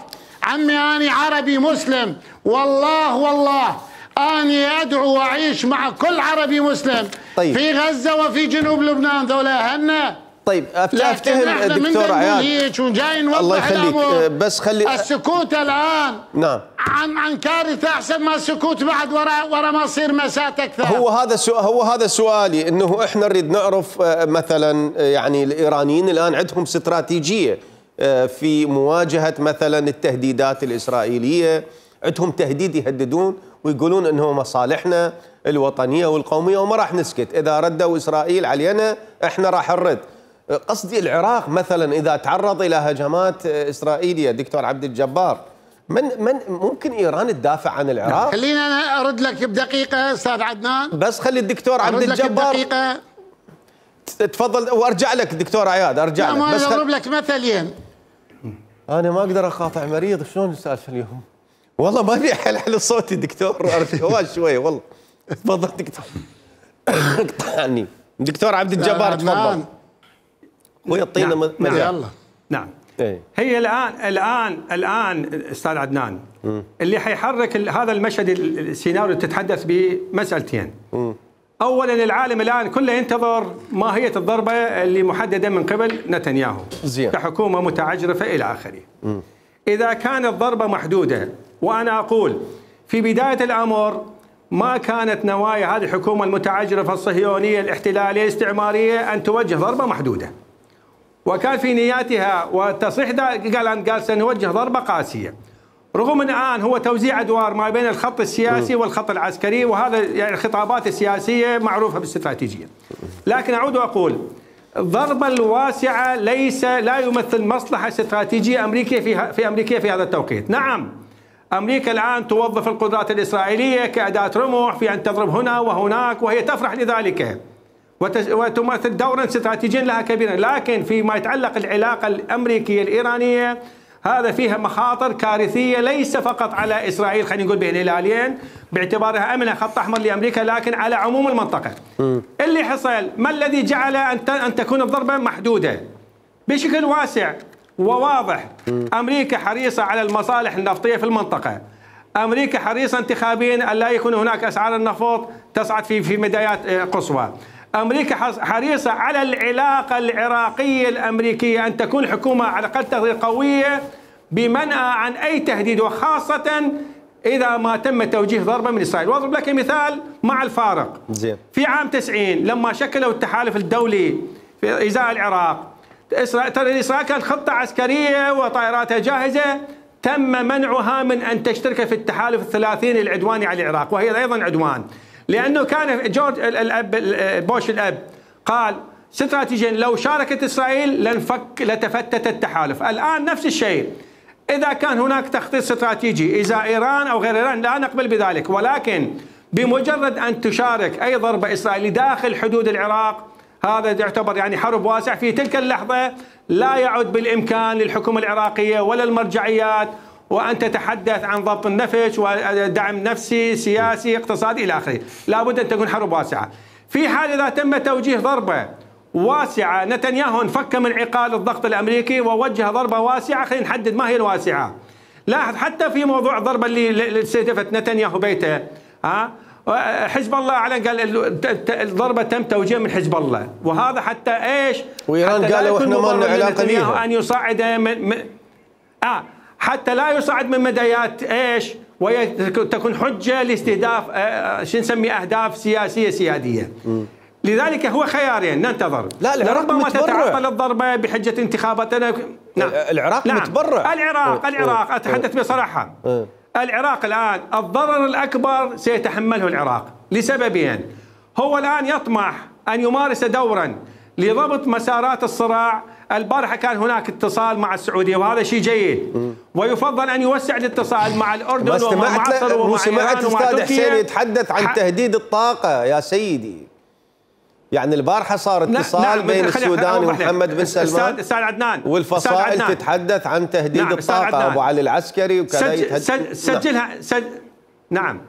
Speaker 3: عمي اني عربي مسلم والله أني أدعو وأعيش مع كل عربي مسلم.
Speaker 1: طيب.
Speaker 3: في غزة وفي جنوب لبنان ذولا أهلنا.
Speaker 1: طيب أفتهم الدكتور عياد
Speaker 3: وجاي نوضح
Speaker 1: الله يخليك بس خلي
Speaker 3: السكوت الآن
Speaker 1: نعم
Speaker 3: عن كارثة أحسن ما السكوت بعد ورا ما يصير مسات أكثر.
Speaker 1: هو هذا سؤالي، إنه إحنا نريد نعرف مثلا يعني الإيرانيين الآن عندهم استراتيجية في مواجهة مثلا التهديدات الإسرائيلية، عندهم تهديد يهددون ويقولون انه مصالحنا الوطنيه والقوميه وما راح نسكت، اذا ردوا اسرائيل علينا احنا راح نرد. قصدي العراق مثلا اذا تعرض الى هجمات اسرائيليه دكتور عبد الجبار، من ممكن ايران تدافع عن العراق؟
Speaker 3: خلينا انا ارد لك بدقيقه استاذ عدنان.
Speaker 1: بس خلي الدكتور عبد الجبار تفضل وارجع لك دكتور عياد ارجع لك.
Speaker 3: بس اضرب لك مثلين.
Speaker 1: انا ما اقدر اقاطع مريض، شلون السالفه اليوم؟ والله ما ابي احلحل صوتي دكتور شوي والله. تفضل دكتور. اقطعني دكتور عبد الجبار تفضل. ويعطينا
Speaker 4: مجال. نعم. هي الان استاذ عدنان اللي حيحرك هذا المشهد السيناريو اللي تتحدث به مسألتين. اولا العالم الان كله ينتظر ماهيه الضربه اللي محدده من قبل نتنياهو كحكومه متعجرفه الى اخره. اذا كانت ضربه محدوده، وأنا أقول في بداية الأمر ما كانت نوايا هذه الحكومة المتعجرفة الصهيونية الاحتلالية الاستعمارية أن توجه ضربة محدودة، وكان في نياتها والتصريح قال سنوجه ضربة قاسية، رغم أن الآن هو توزيع أدوار ما بين الخط السياسي والخط العسكري، وهذا يعني الخطابات السياسية معروفة بالاستراتيجية. لكن أعود وأقول الضربة الواسعة لا يمثل مصلحة استراتيجية أمريكية في هذا التوقيت. نعم أمريكا الآن توظف القدرات الإسرائيلية كأداة رمح في أن تضرب هنا وهناك، وهي تفرح لذلك وتمثل دورا استراتيجيا لها كبيرا، لكن فيما يتعلق العلاقة الأمريكية الإيرانية هذا فيها مخاطر كارثية ليس فقط على إسرائيل، خلينا نقول بين الهلالين باعتبارها أمنها خط أحمر لأمريكا، لكن على عموم المنطقة. اللي حصل ما الذي جعل أن تكون الضربة محدودة بشكل واسع وواضح؟ أمريكا حريصة على المصالح النفطية في المنطقة، أمريكا حريصة انتخابيا أن لا يكون هناك أسعار النفط تصعد في مدايات قصوى، أمريكا حريصة على العلاقة العراقية الأمريكية أن تكون الحكومة على أقل تقدير قوية بمنع عن أي تهديد، وخاصة إذا ما تم توجيه ضربة من إسرائيل. وأضرب لك مثال مع الفارق. في عام 90 لما شكلوا التحالف الدولي في إزاء العراق، إسرائيل كانت خطة عسكرية وطائراتها جاهزة، تم منعها من أن تشترك في التحالف الثلاثيني العدواني على العراق، وهي أيضا عدوان، لأنه كان جورج بوش الأب قال استراتيجيا لو شاركت إسرائيل لتفتت التحالف. الآن نفس الشيء، إذا كان هناك تخطيط استراتيجي إزاء إيران أو غير إيران لا نقبل بذلك، ولكن بمجرد أن تشارك أي ضربة إسرائيلية داخل حدود العراق هذا يعتبر يعني حرب واسع. في تلك اللحظة لا يعد بالإمكان للحكومة العراقية ولا المرجعيات وأن تتحدث عن ضبط النفس ودعم نفسي سياسي اقتصادي إلى آخره. لابد أن تكون حرب واسعة. في حال إذا تم توجيه ضربة واسعة، نتنياهو انفك من عقال الضغط الأمريكي ووجه ضربة واسعة. خلينا نحدد ما هي الواسعة. لاحظ حتى في موضوع الضربة اللي استهدفت نتنياهو بيته، حزب الله أعلن قال الضربة تم توجيهها من حزب الله، وهذا حتى إيش؟
Speaker 1: وإيران قالوا إحنا ما لنا علاقة بها،
Speaker 4: أن يصعد حتى لا يصعد من مدايات إيش؟ وتكون حجة لاستهداف شو نسمي أهداف سياسية سيادية. لذلك هو خيارين ننتظر.
Speaker 1: لا العراق
Speaker 4: ما تتعطل الضربة بحجة انتخاباتنا.
Speaker 1: نعم العراق متبرع.
Speaker 4: العراق أتحدث بصراحة. العراق الآن الضرر الأكبر سيتحمله العراق لسببين. هو الآن يطمح أن يمارس دورا لضبط مسارات الصراع. البارحة كان هناك اتصال مع السعودية وهذا شيء جيد، ويفضل أن يوسع الاتصال مع الأردن ومع مصر ومع
Speaker 1: سمعت أستاذ حسين يتحدث عن تهديد الطاقة يا سيدي. يعني البارحة صار اتصال بين السودان ومحمد بن سلمان
Speaker 4: أستاذ عدنان،
Speaker 1: والفصائل تتحدث عن تهديد الطاقة. أبو علي العسكري وكذا
Speaker 4: سجلها نعم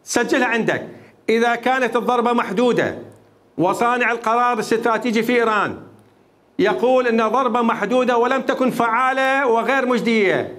Speaker 4: سجلها عندك. إذا كانت الضربة محدودة وصانع القرار الاستراتيجي في إيران يقول أن ضربة محدودة ولم تكن فعالة وغير مجدية،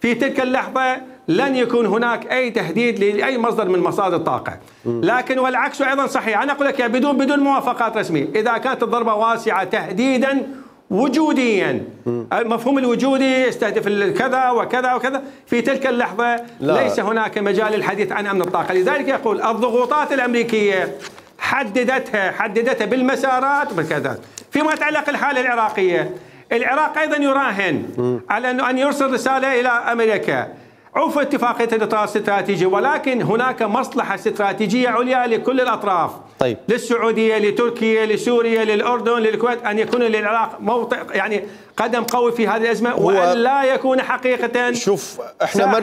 Speaker 4: في تلك اللحظة لن يكون هناك أي تهديد لأي مصدر من مصادر الطاقة. لكن والعكس أيضا صحيح. أنا أقول لك بدون موافقات رسمية، إذا كانت الضربة واسعة تهديدا وجوديا، المفهوم الوجودي يستهدف كذا وكذا وكذا، في تلك اللحظة ليس هناك مجال للحديث عن أمن الطاقة. لذلك يقول الضغوطات الأمريكية حددتها بالمسارات وبالكذا. فيما يتعلق الحالة العراقية، العراق أيضا يراهن على أن يرسل رسالة إلى أمريكا عفوا اتفاقية الإطار الاستراتيجي، ولكن هناك مصلحة استراتيجية عليا لكل الأطراف.
Speaker 1: طيب.
Speaker 4: للسعودية، لتركيا، لسوريا، للأردن، للكويت، أن يكون للعراق موطئ يعني قدم قوي في هذه الأزمة، وأن لا يكون حقيقة.
Speaker 1: شوف احنا ما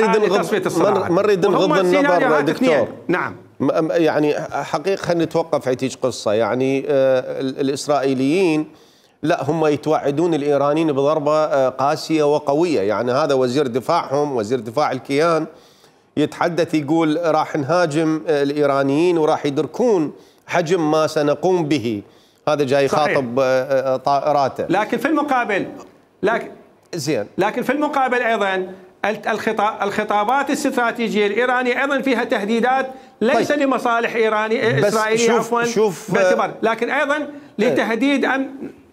Speaker 1: نريد نغض النظر دكتور.
Speaker 4: نعم
Speaker 1: يعني حقيقة خلينا نتوقف عتيج قصة. يعني الإسرائيليين لا هم يتوعدون الإيرانيين بضربة قاسية وقوية. يعني هذا وزير دفاعهم، وزير دفاع الكيان، يتحدث يقول راح نهاجم الإيرانيين وراح يدركون حجم ما سنقوم به. هذا جاي يخاطب طائراته.
Speaker 4: لكن في المقابل
Speaker 1: زين،
Speaker 4: لكن في المقابل أيضا الخطابات الاستراتيجية الإيرانية أيضا فيها تهديدات ليس
Speaker 1: طيب.
Speaker 4: لمصالح إسرائيلية عفوا باعتبار، لكن أيضا لتهديد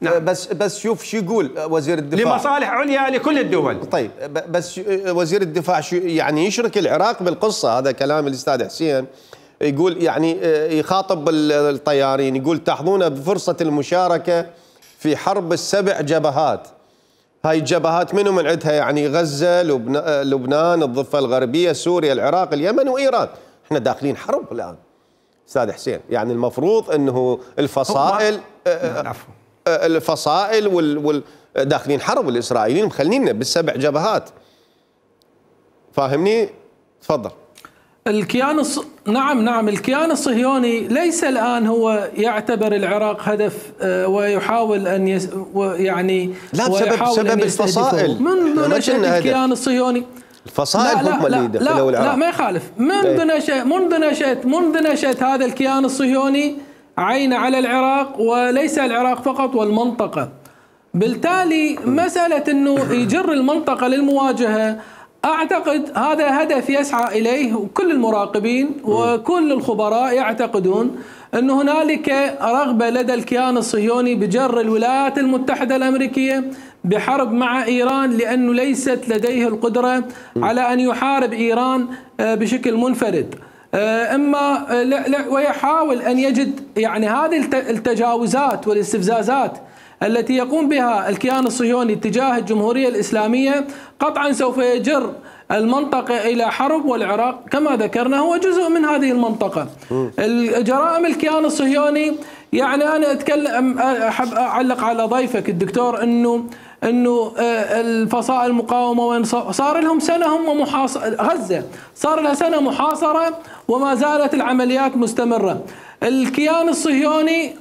Speaker 1: نعم. بس شوف شو يقول وزير الدفاع،
Speaker 4: لمصالح عليا لكل الدول.
Speaker 1: طيب بس وزير الدفاع شو يعني يشرك العراق بالقصة. هذا كلام الأستاذ حسين. يقول يعني يخاطب الطيارين، يقول تحظون بفرصة المشاركة في حرب ال7 جبهات. هاي الجبهات منهم من عندها يعني غزة، لبنان، الضفة الغربية، سوريا، العراق، اليمن وإيران. احنا داخلين حرب الآن أستاذ حسين. يعني المفروض أنه الفصائل داخلين حرب. الإسرائيليين مخلينا بال7 جبهات. فاهمني؟ تفضل.
Speaker 2: نعم الكيان الصهيوني ليس الآن هو يعتبر العراق هدف ويحاول أن
Speaker 1: يعني لا بسبب الفصائل.
Speaker 2: منذ نشأة الكيان الصهيوني
Speaker 1: الفصائل هم اللي دخلوا العراق.
Speaker 2: لا ما يخالف. منذ نشأة هذا الكيان الصهيوني عين على العراق، وليس العراق فقط والمنطقة. بالتالي مسألة أنه يجر المنطقة للمواجهة، أعتقد هذا هدف يسعى إليه كل المراقبين وكل الخبراء. يعتقدون أن هنالك رغبة لدى الكيان الصهيوني بجر الولايات المتحدة الأمريكية بحرب مع إيران، لأنه ليست لديه القدرة على أن يحارب إيران بشكل منفرد. ويحاول أن يجد يعني هذه التجاوزات والاستفزازات التي يقوم بها الكيان الصهيوني تجاه الجمهورية الإسلامية قطعا سوف يجر المنطقة إلى حرب، والعراق كما ذكرنا هو جزء من هذه المنطقة. الجرائم الكيان الصهيوني، يعني أنا أتكلم أحب أعلق على ضيفك الدكتور أنه الفصائل المقاومة وين صار لهم سنة هم غزة صار لها سنة محاصرة وما زالت العمليات مستمرة. الكيان الصهيوني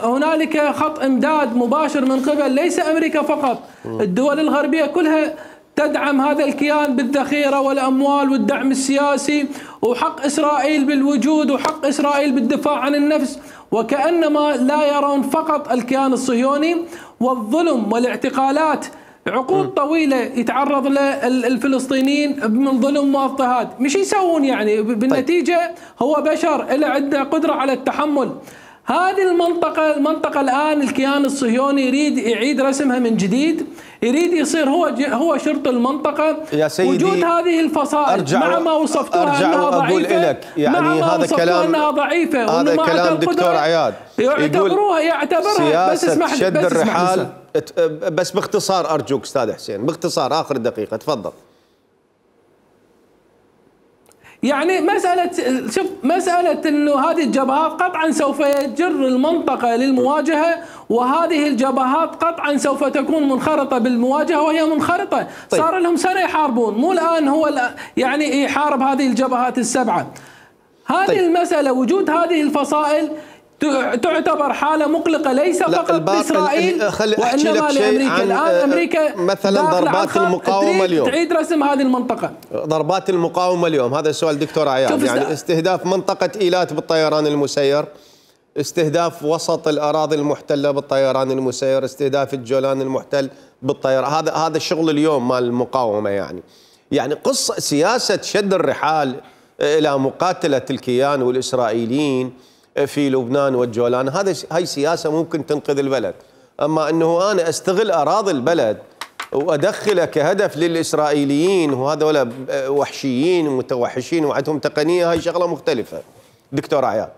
Speaker 2: هنالك خط امداد مباشر من قبل ليس أمريكا فقط، الدول الغربية كلها تدعم هذا الكيان بالذخيرة والأموال والدعم السياسي، وحق إسرائيل بالوجود وحق إسرائيل بالدفاع عن النفس، وكأنما لا يرون فقط الكيان الصهيوني والظلم والاعتقالات. عقود طويلة يتعرض للفلسطينيين من ظلم واضطهاد، مش يسوون يعني بالنتيجة هو بشر اللي عنده قدرة على التحمل. هذه المنطقة الآن الكيان الصهيوني يريد يعيد رسمها من جديد، يريد يصير هو شرط المنطقة.
Speaker 1: يا سيدي
Speaker 2: وجود هذه الفصائل مع ما وصفتوها أنها ضعيفة،
Speaker 1: يعني
Speaker 2: مع ما
Speaker 1: هذا كلام
Speaker 2: أنها ضعيفة،
Speaker 1: هذا كلام دكتور عياد
Speaker 2: يعتبرها بس اسمح
Speaker 1: شد الرحال. بس باختصار أرجوك أستاذ حسين، باختصار آخر دقيقة تفضل.
Speaker 2: يعني مسألة انه هذه الجبهات قطعا سوف يجر المنطقة للمواجهة، وهذه الجبهات قطعا سوف تكون منخرطة بالمواجهة، وهي منخرطة.
Speaker 1: طيب.
Speaker 2: صار لهم سنة يحاربون، مو الآن هو يعني يحارب هذه الجبهات السبعة. هذه طيب. المسألة وجود هذه الفصائل تعتبر حالة مقلقة ليس فقط بإسرائيل وإنما لأمريكا. الآن أمريكا
Speaker 1: مثلا ضربات المقاومة اليوم
Speaker 2: تعيد رسم هذه المنطقة.
Speaker 1: ضربات المقاومة اليوم، هذا سؤال دكتور عياد، يعني استهداف منطقة إيلات بالطيران المسير، استهداف وسط الأراضي المحتلة بالطيران المسير، استهداف الجولان المحتل بالطيران، هذا الشغل اليوم مال المقاومة. يعني قصة سياسة شد الرحال إلى مقاتلة الكيان والإسرائيليين في لبنان والجولان، هاي سياسة ممكن تنقذ البلد. أما أنه أنا أستغل أراضي البلد وأدخله كهدف للإسرائيليين وهذول وحشيين ومتوحشين وعندهم تقنية، هاي شغلة مختلفة. دكتور عياد.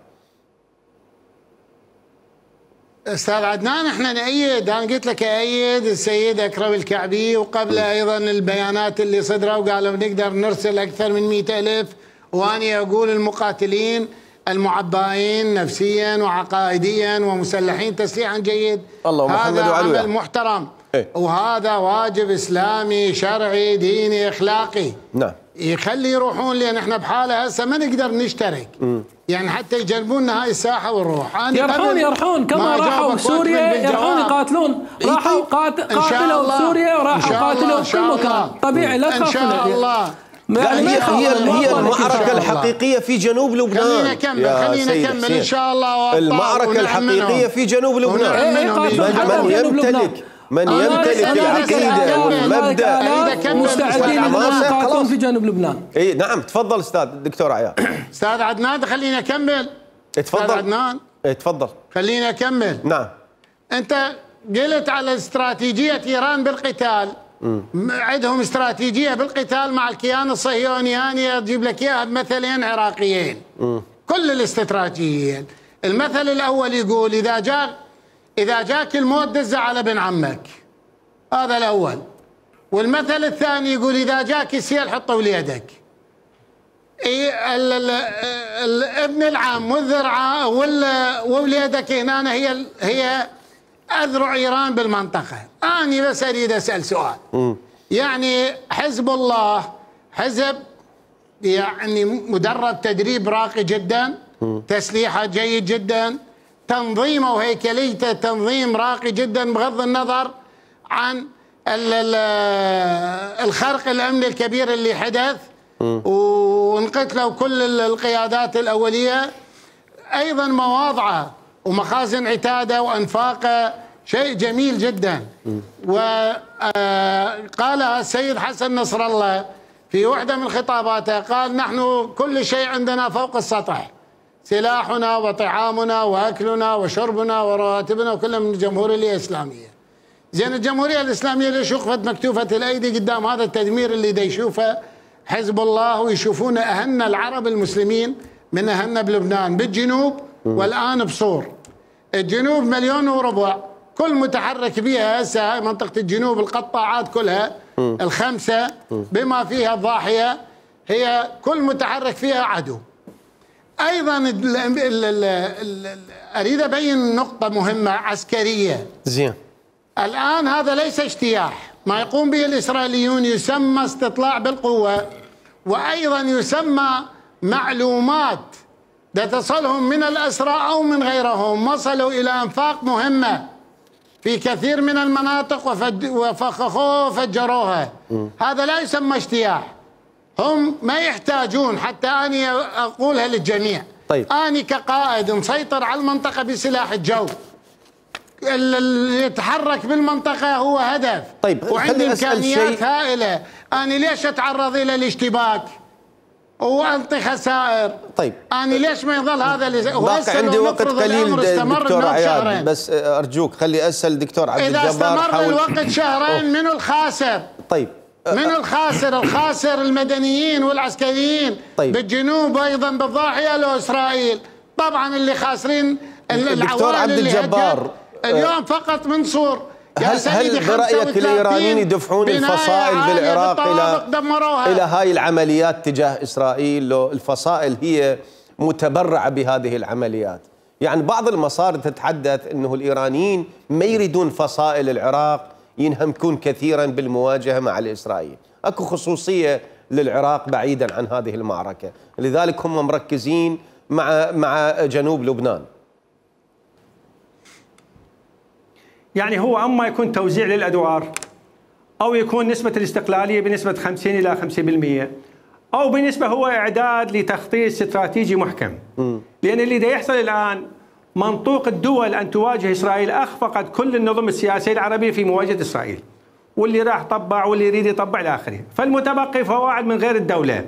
Speaker 3: أستاذ عدنان، احنا نأيد، أنا قلت لك أيد السيد أكرم الكعبي، وقبل أيضا البيانات اللي صدروا وقالوا نقدر نرسل أكثر من 100,000، وأنا أقول المقاتلين المعبائين نفسيا وعقائديا ومسلحين تسليحا جيد، هذا عمل محترم. وهذا واجب إسلامي شرعي ديني أخلاقي.
Speaker 1: نعم.
Speaker 3: يخلي يروحون، لأن احنا بحالة هسه ما نقدر نشترك. يعني حتى يجنبوننا هاي الساحة ونروح.
Speaker 2: يرحون كما راحوا سوريا، يرحون يقاتلون، راحوا قاتلوا سوريا وراحوا قاتلوا في كل مكان. طبيعي، لا تخافون.
Speaker 3: إن شاء الله.
Speaker 1: هي المعركة الحقيقية في جنوب لبنان.
Speaker 3: خلينا نكمل إن شاء الله.
Speaker 1: المعركة الحقيقية في جنوب لبنان. من يمتلك العقيدة والمبدأ
Speaker 2: مستعدين للمقاتلون في جنوب لبنان.
Speaker 1: اي نعم، تفضل استاذ دكتور عياد.
Speaker 3: استاذ عدنان خلينا نكمل.
Speaker 1: تفضل
Speaker 3: استاذ عدنان.
Speaker 1: تفضل.
Speaker 3: خلينا نكمل.
Speaker 1: نعم.
Speaker 3: انت قلت على استراتيجية ايران بالقتال. عندهم استراتيجية بالقتال مع الكيان الصهيوني، أنا أجيب لك إياها بمثلين عراقيين. كل الاستراتيجيين. المثل الأول يقول إذا جاك الموت دز على ابن عمك، هذا الأول. والمثل الثاني يقول إذا جاك السيل حطه وليدك. ابن العم والذرعة ووليدك هنا هي أذرع إيران بالمنطقة. أنا بس أريد أسأل سؤال. يعني حزب الله حزب يعني مدرب تدريب راقي جدا، تسليحه جيد جدا، تنظيمه وهيكليته تنظيم راقي جدا، بغض النظر عن الخرق الأمني الكبير اللي حدث وانقتلوا كل القيادات الأولية. أيضا مواضعه ومخازن عتاده وأنفاقه شيء جميل جدا. وقال السيد حسن نصر الله في واحدة من خطاباته، قال نحن كل شيء عندنا فوق السطح، سلاحنا وطعامنا وأكلنا وشربنا ورواتبنا وكلنا من الجمهورية الإسلامية. زين الجمهورية الإسلامية ليش وقفت مكتوفة الأيدي قدام هذا التدمير اللي دا يشوفه حزب الله، ويشوفون أهلنا العرب المسلمين من أهلنا بلبنان بالجنوب والآن بصور. الجنوب 1.4 مليون، كل متحرك بها هسه منطقة الجنوب القطاعات كلها الخمسة بما فيها الضاحية، هي كل متحرك فيها عدو. أيضا أريد أبين نقطة مهمة عسكرية.
Speaker 1: زين.
Speaker 3: الآن هذا ليس اجتياح، ما يقوم به الإسرائيليون يسمى استطلاع بالقوة، وأيضا يسمى معلومات تصلهم من الأسرى أو من غيرهم، وصلوا إلى أنفاق مهمة في كثير من المناطق وفخخوها وفجروها. هذا لا يسمى اجتياح. هم ما يحتاجون، حتى أنا أقولها للجميع.
Speaker 1: طيب.
Speaker 3: أنا كقائد مسيطر على المنطقة بسلاح الجو، اللي يتحرك بالمنطقة هو هدف.
Speaker 1: طيب.
Speaker 3: وعندي إمكانيات هائلة، أنا ليش أتعرض إلى الاشتباك وألقي خسائر؟
Speaker 1: طيب.
Speaker 3: أنا ليش ما يظل هذا
Speaker 1: باقي عندي وقت قليل دكتور عياد، بس أرجوك خلي أسأل دكتور عبد الجبار.
Speaker 3: إذا استمر الوقت شهرين منو الخاسر؟
Speaker 1: طيب.
Speaker 3: منو الخاسر؟ الخاسر المدنيين والعسكريين.
Speaker 1: طيب.
Speaker 3: بالجنوب أيضا بالضاحية له إسرائيل. طبعا اللي خاسرين
Speaker 1: دكتور عبد الجبار
Speaker 3: اليوم فقط منصور.
Speaker 1: هل برأيك الإيرانيين يدفعون الفصائل بالعراق إلى هاي العمليات تجاه إسرائيل؟ لو الفصائل هي متبرعة بهذه العمليات؟ يعني بعض المصادر تتحدث أنه الإيرانيين ما يريدون فصائل العراق ينهمكون كثيرا بالمواجهة مع الإسرائيل، أكو خصوصية للعراق بعيدا عن هذه المعركة، لذلك هم مركزين مع جنوب لبنان.
Speaker 4: يعني هو أما يكون توزيع للأدوار، أو يكون نسبة الاستقلالية بنسبة 50 إلى 50%، أو بنسبة هو إعداد لتخطيط استراتيجي محكم. لأن اللي دا يحصل الآن منطوق الدول أن تواجه إسرائيل أخفقت كل النظم السياسية العربية في مواجهة إسرائيل، واللي راح طبع واللي يريد يطبع إلى آخره. فالمتبقي فواعل من غير الدولة،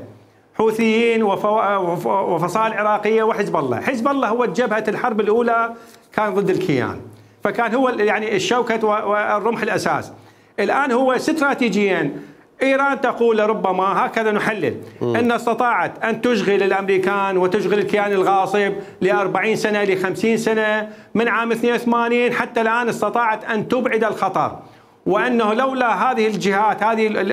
Speaker 4: حوثيين وفصائل عراقية وحزب الله. حزب الله هو جبهة الحرب الأولى كان ضد الكيان، فكان هو يعني الشوكة والرمح الأساس. الآن هو استراتيجيا إيران تقول ربما هكذا نحلل أن استطاعت أن تشغل الأمريكان وتشغل الكيان الغاصب ل40 سنة ل50 سنة من عام 82 حتى الآن، استطاعت أن تبعد الخطر، وأنه لولا هذه الجهات هذه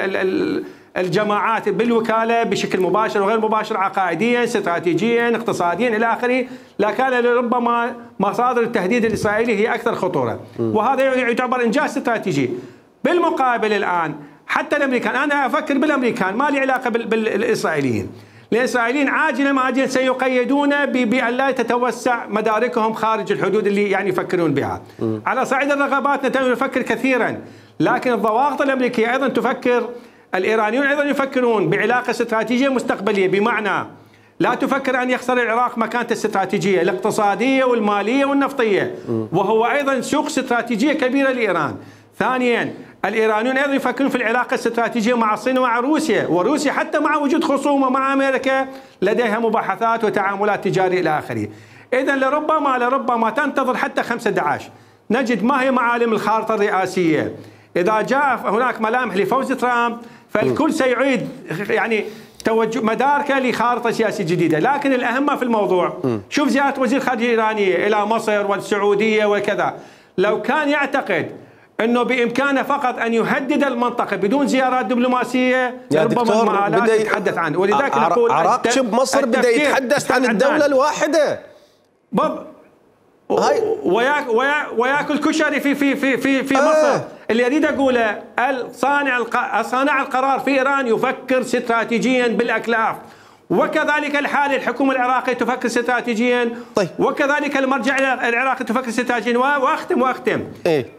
Speaker 4: الجماعات بالوكالة بشكل مباشر وغير مباشر، عقائديا استراتيجيا اقتصاديا إلى آخره، لكان لربما مصادر التهديد الإسرائيلي هي أكثر خطورة، وهذا يعتبر إنجاز استراتيجي. بالمقابل الآن حتى الأمريكان، أنا أفكر بالأمريكان ما لي علاقة بالإسرائيليين. الإسرائيليين عاجلا ما عاجلا سيقيدون بأن لا تتوسع مداركهم خارج الحدود اللي يعني يفكرون بها. على صعيد الرغبات نفكر كثيرا، لكن الضواغط الأمريكية أيضا تفكر، الإيرانيون أيضا يفكرون بعلاقة استراتيجية مستقبلية، بمعنى لا تفكر أن يخسر العراق مكانته الاستراتيجية الاقتصادية والمالية والنفطية، وهو أيضا سوق استراتيجية كبيرة لإيران. ثانيا الإيرانيون أيضا يفكرون في العلاقة الاستراتيجية مع الصين ومع روسيا، وروسيا حتى مع وجود خصومة مع أمريكا لديها مباحثات وتعاملات تجارية إلى آخره. إذا لربما تنتظر حتى 5/11 نجد ما هي معالم الخارطة الرئاسية. إذا جاء هناك ملامح لفوز ترامب فالكل سيعيد يعني توجه مداركه لخارطة سياسية جديدة. لكن الأهم في الموضوع، شوف زيارة وزير الخارجية الإيرانية إلى مصر والسعودية وكذا، لو كان يعتقد أنه بإمكانه فقط أن يهدد المنطقة بدون زيارات دبلوماسية ربما المآلات يتحدث عنه. ولذلك نقول
Speaker 1: عراقش بمصر بدأ يتحدث عن الدولة الواحدة
Speaker 4: وياكل كشري في مصر. اللي اريد اقوله صانع القرار في ايران يفكر استراتيجيا بالاكلاف، وكذلك الحال الحكومة العراقية تفكر استراتيجيا.
Speaker 1: طيب.
Speaker 4: وكذلك المرجع العراقي تفكر استراتيجيا. واختم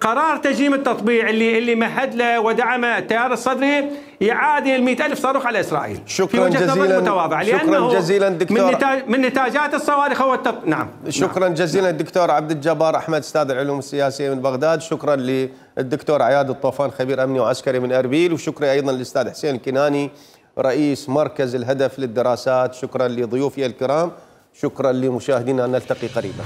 Speaker 4: قرار تجريم التطبيع اللي مهد له ودعم التيار الصدري يعادل 100,000 صاروخ على إسرائيل.
Speaker 1: شكرا جزيلا.
Speaker 4: شكرا
Speaker 1: جزيلا دكتور.
Speaker 4: من نتاجات الصواريخ هو نعم.
Speaker 1: شكرا جزيلا الدكتور عبد الجبار أحمد، أستاذ العلوم السياسية من بغداد. شكرا للدكتور عياد الطوفان خبير أمني وعسكري من أربيل، وشكرا أيضا للأستاذ حسين الكناني رئيس مركز الهدف للدراسات. شكرا لضيوفي الكرام، شكرا لمشاهدينا، نلتقي قريبا.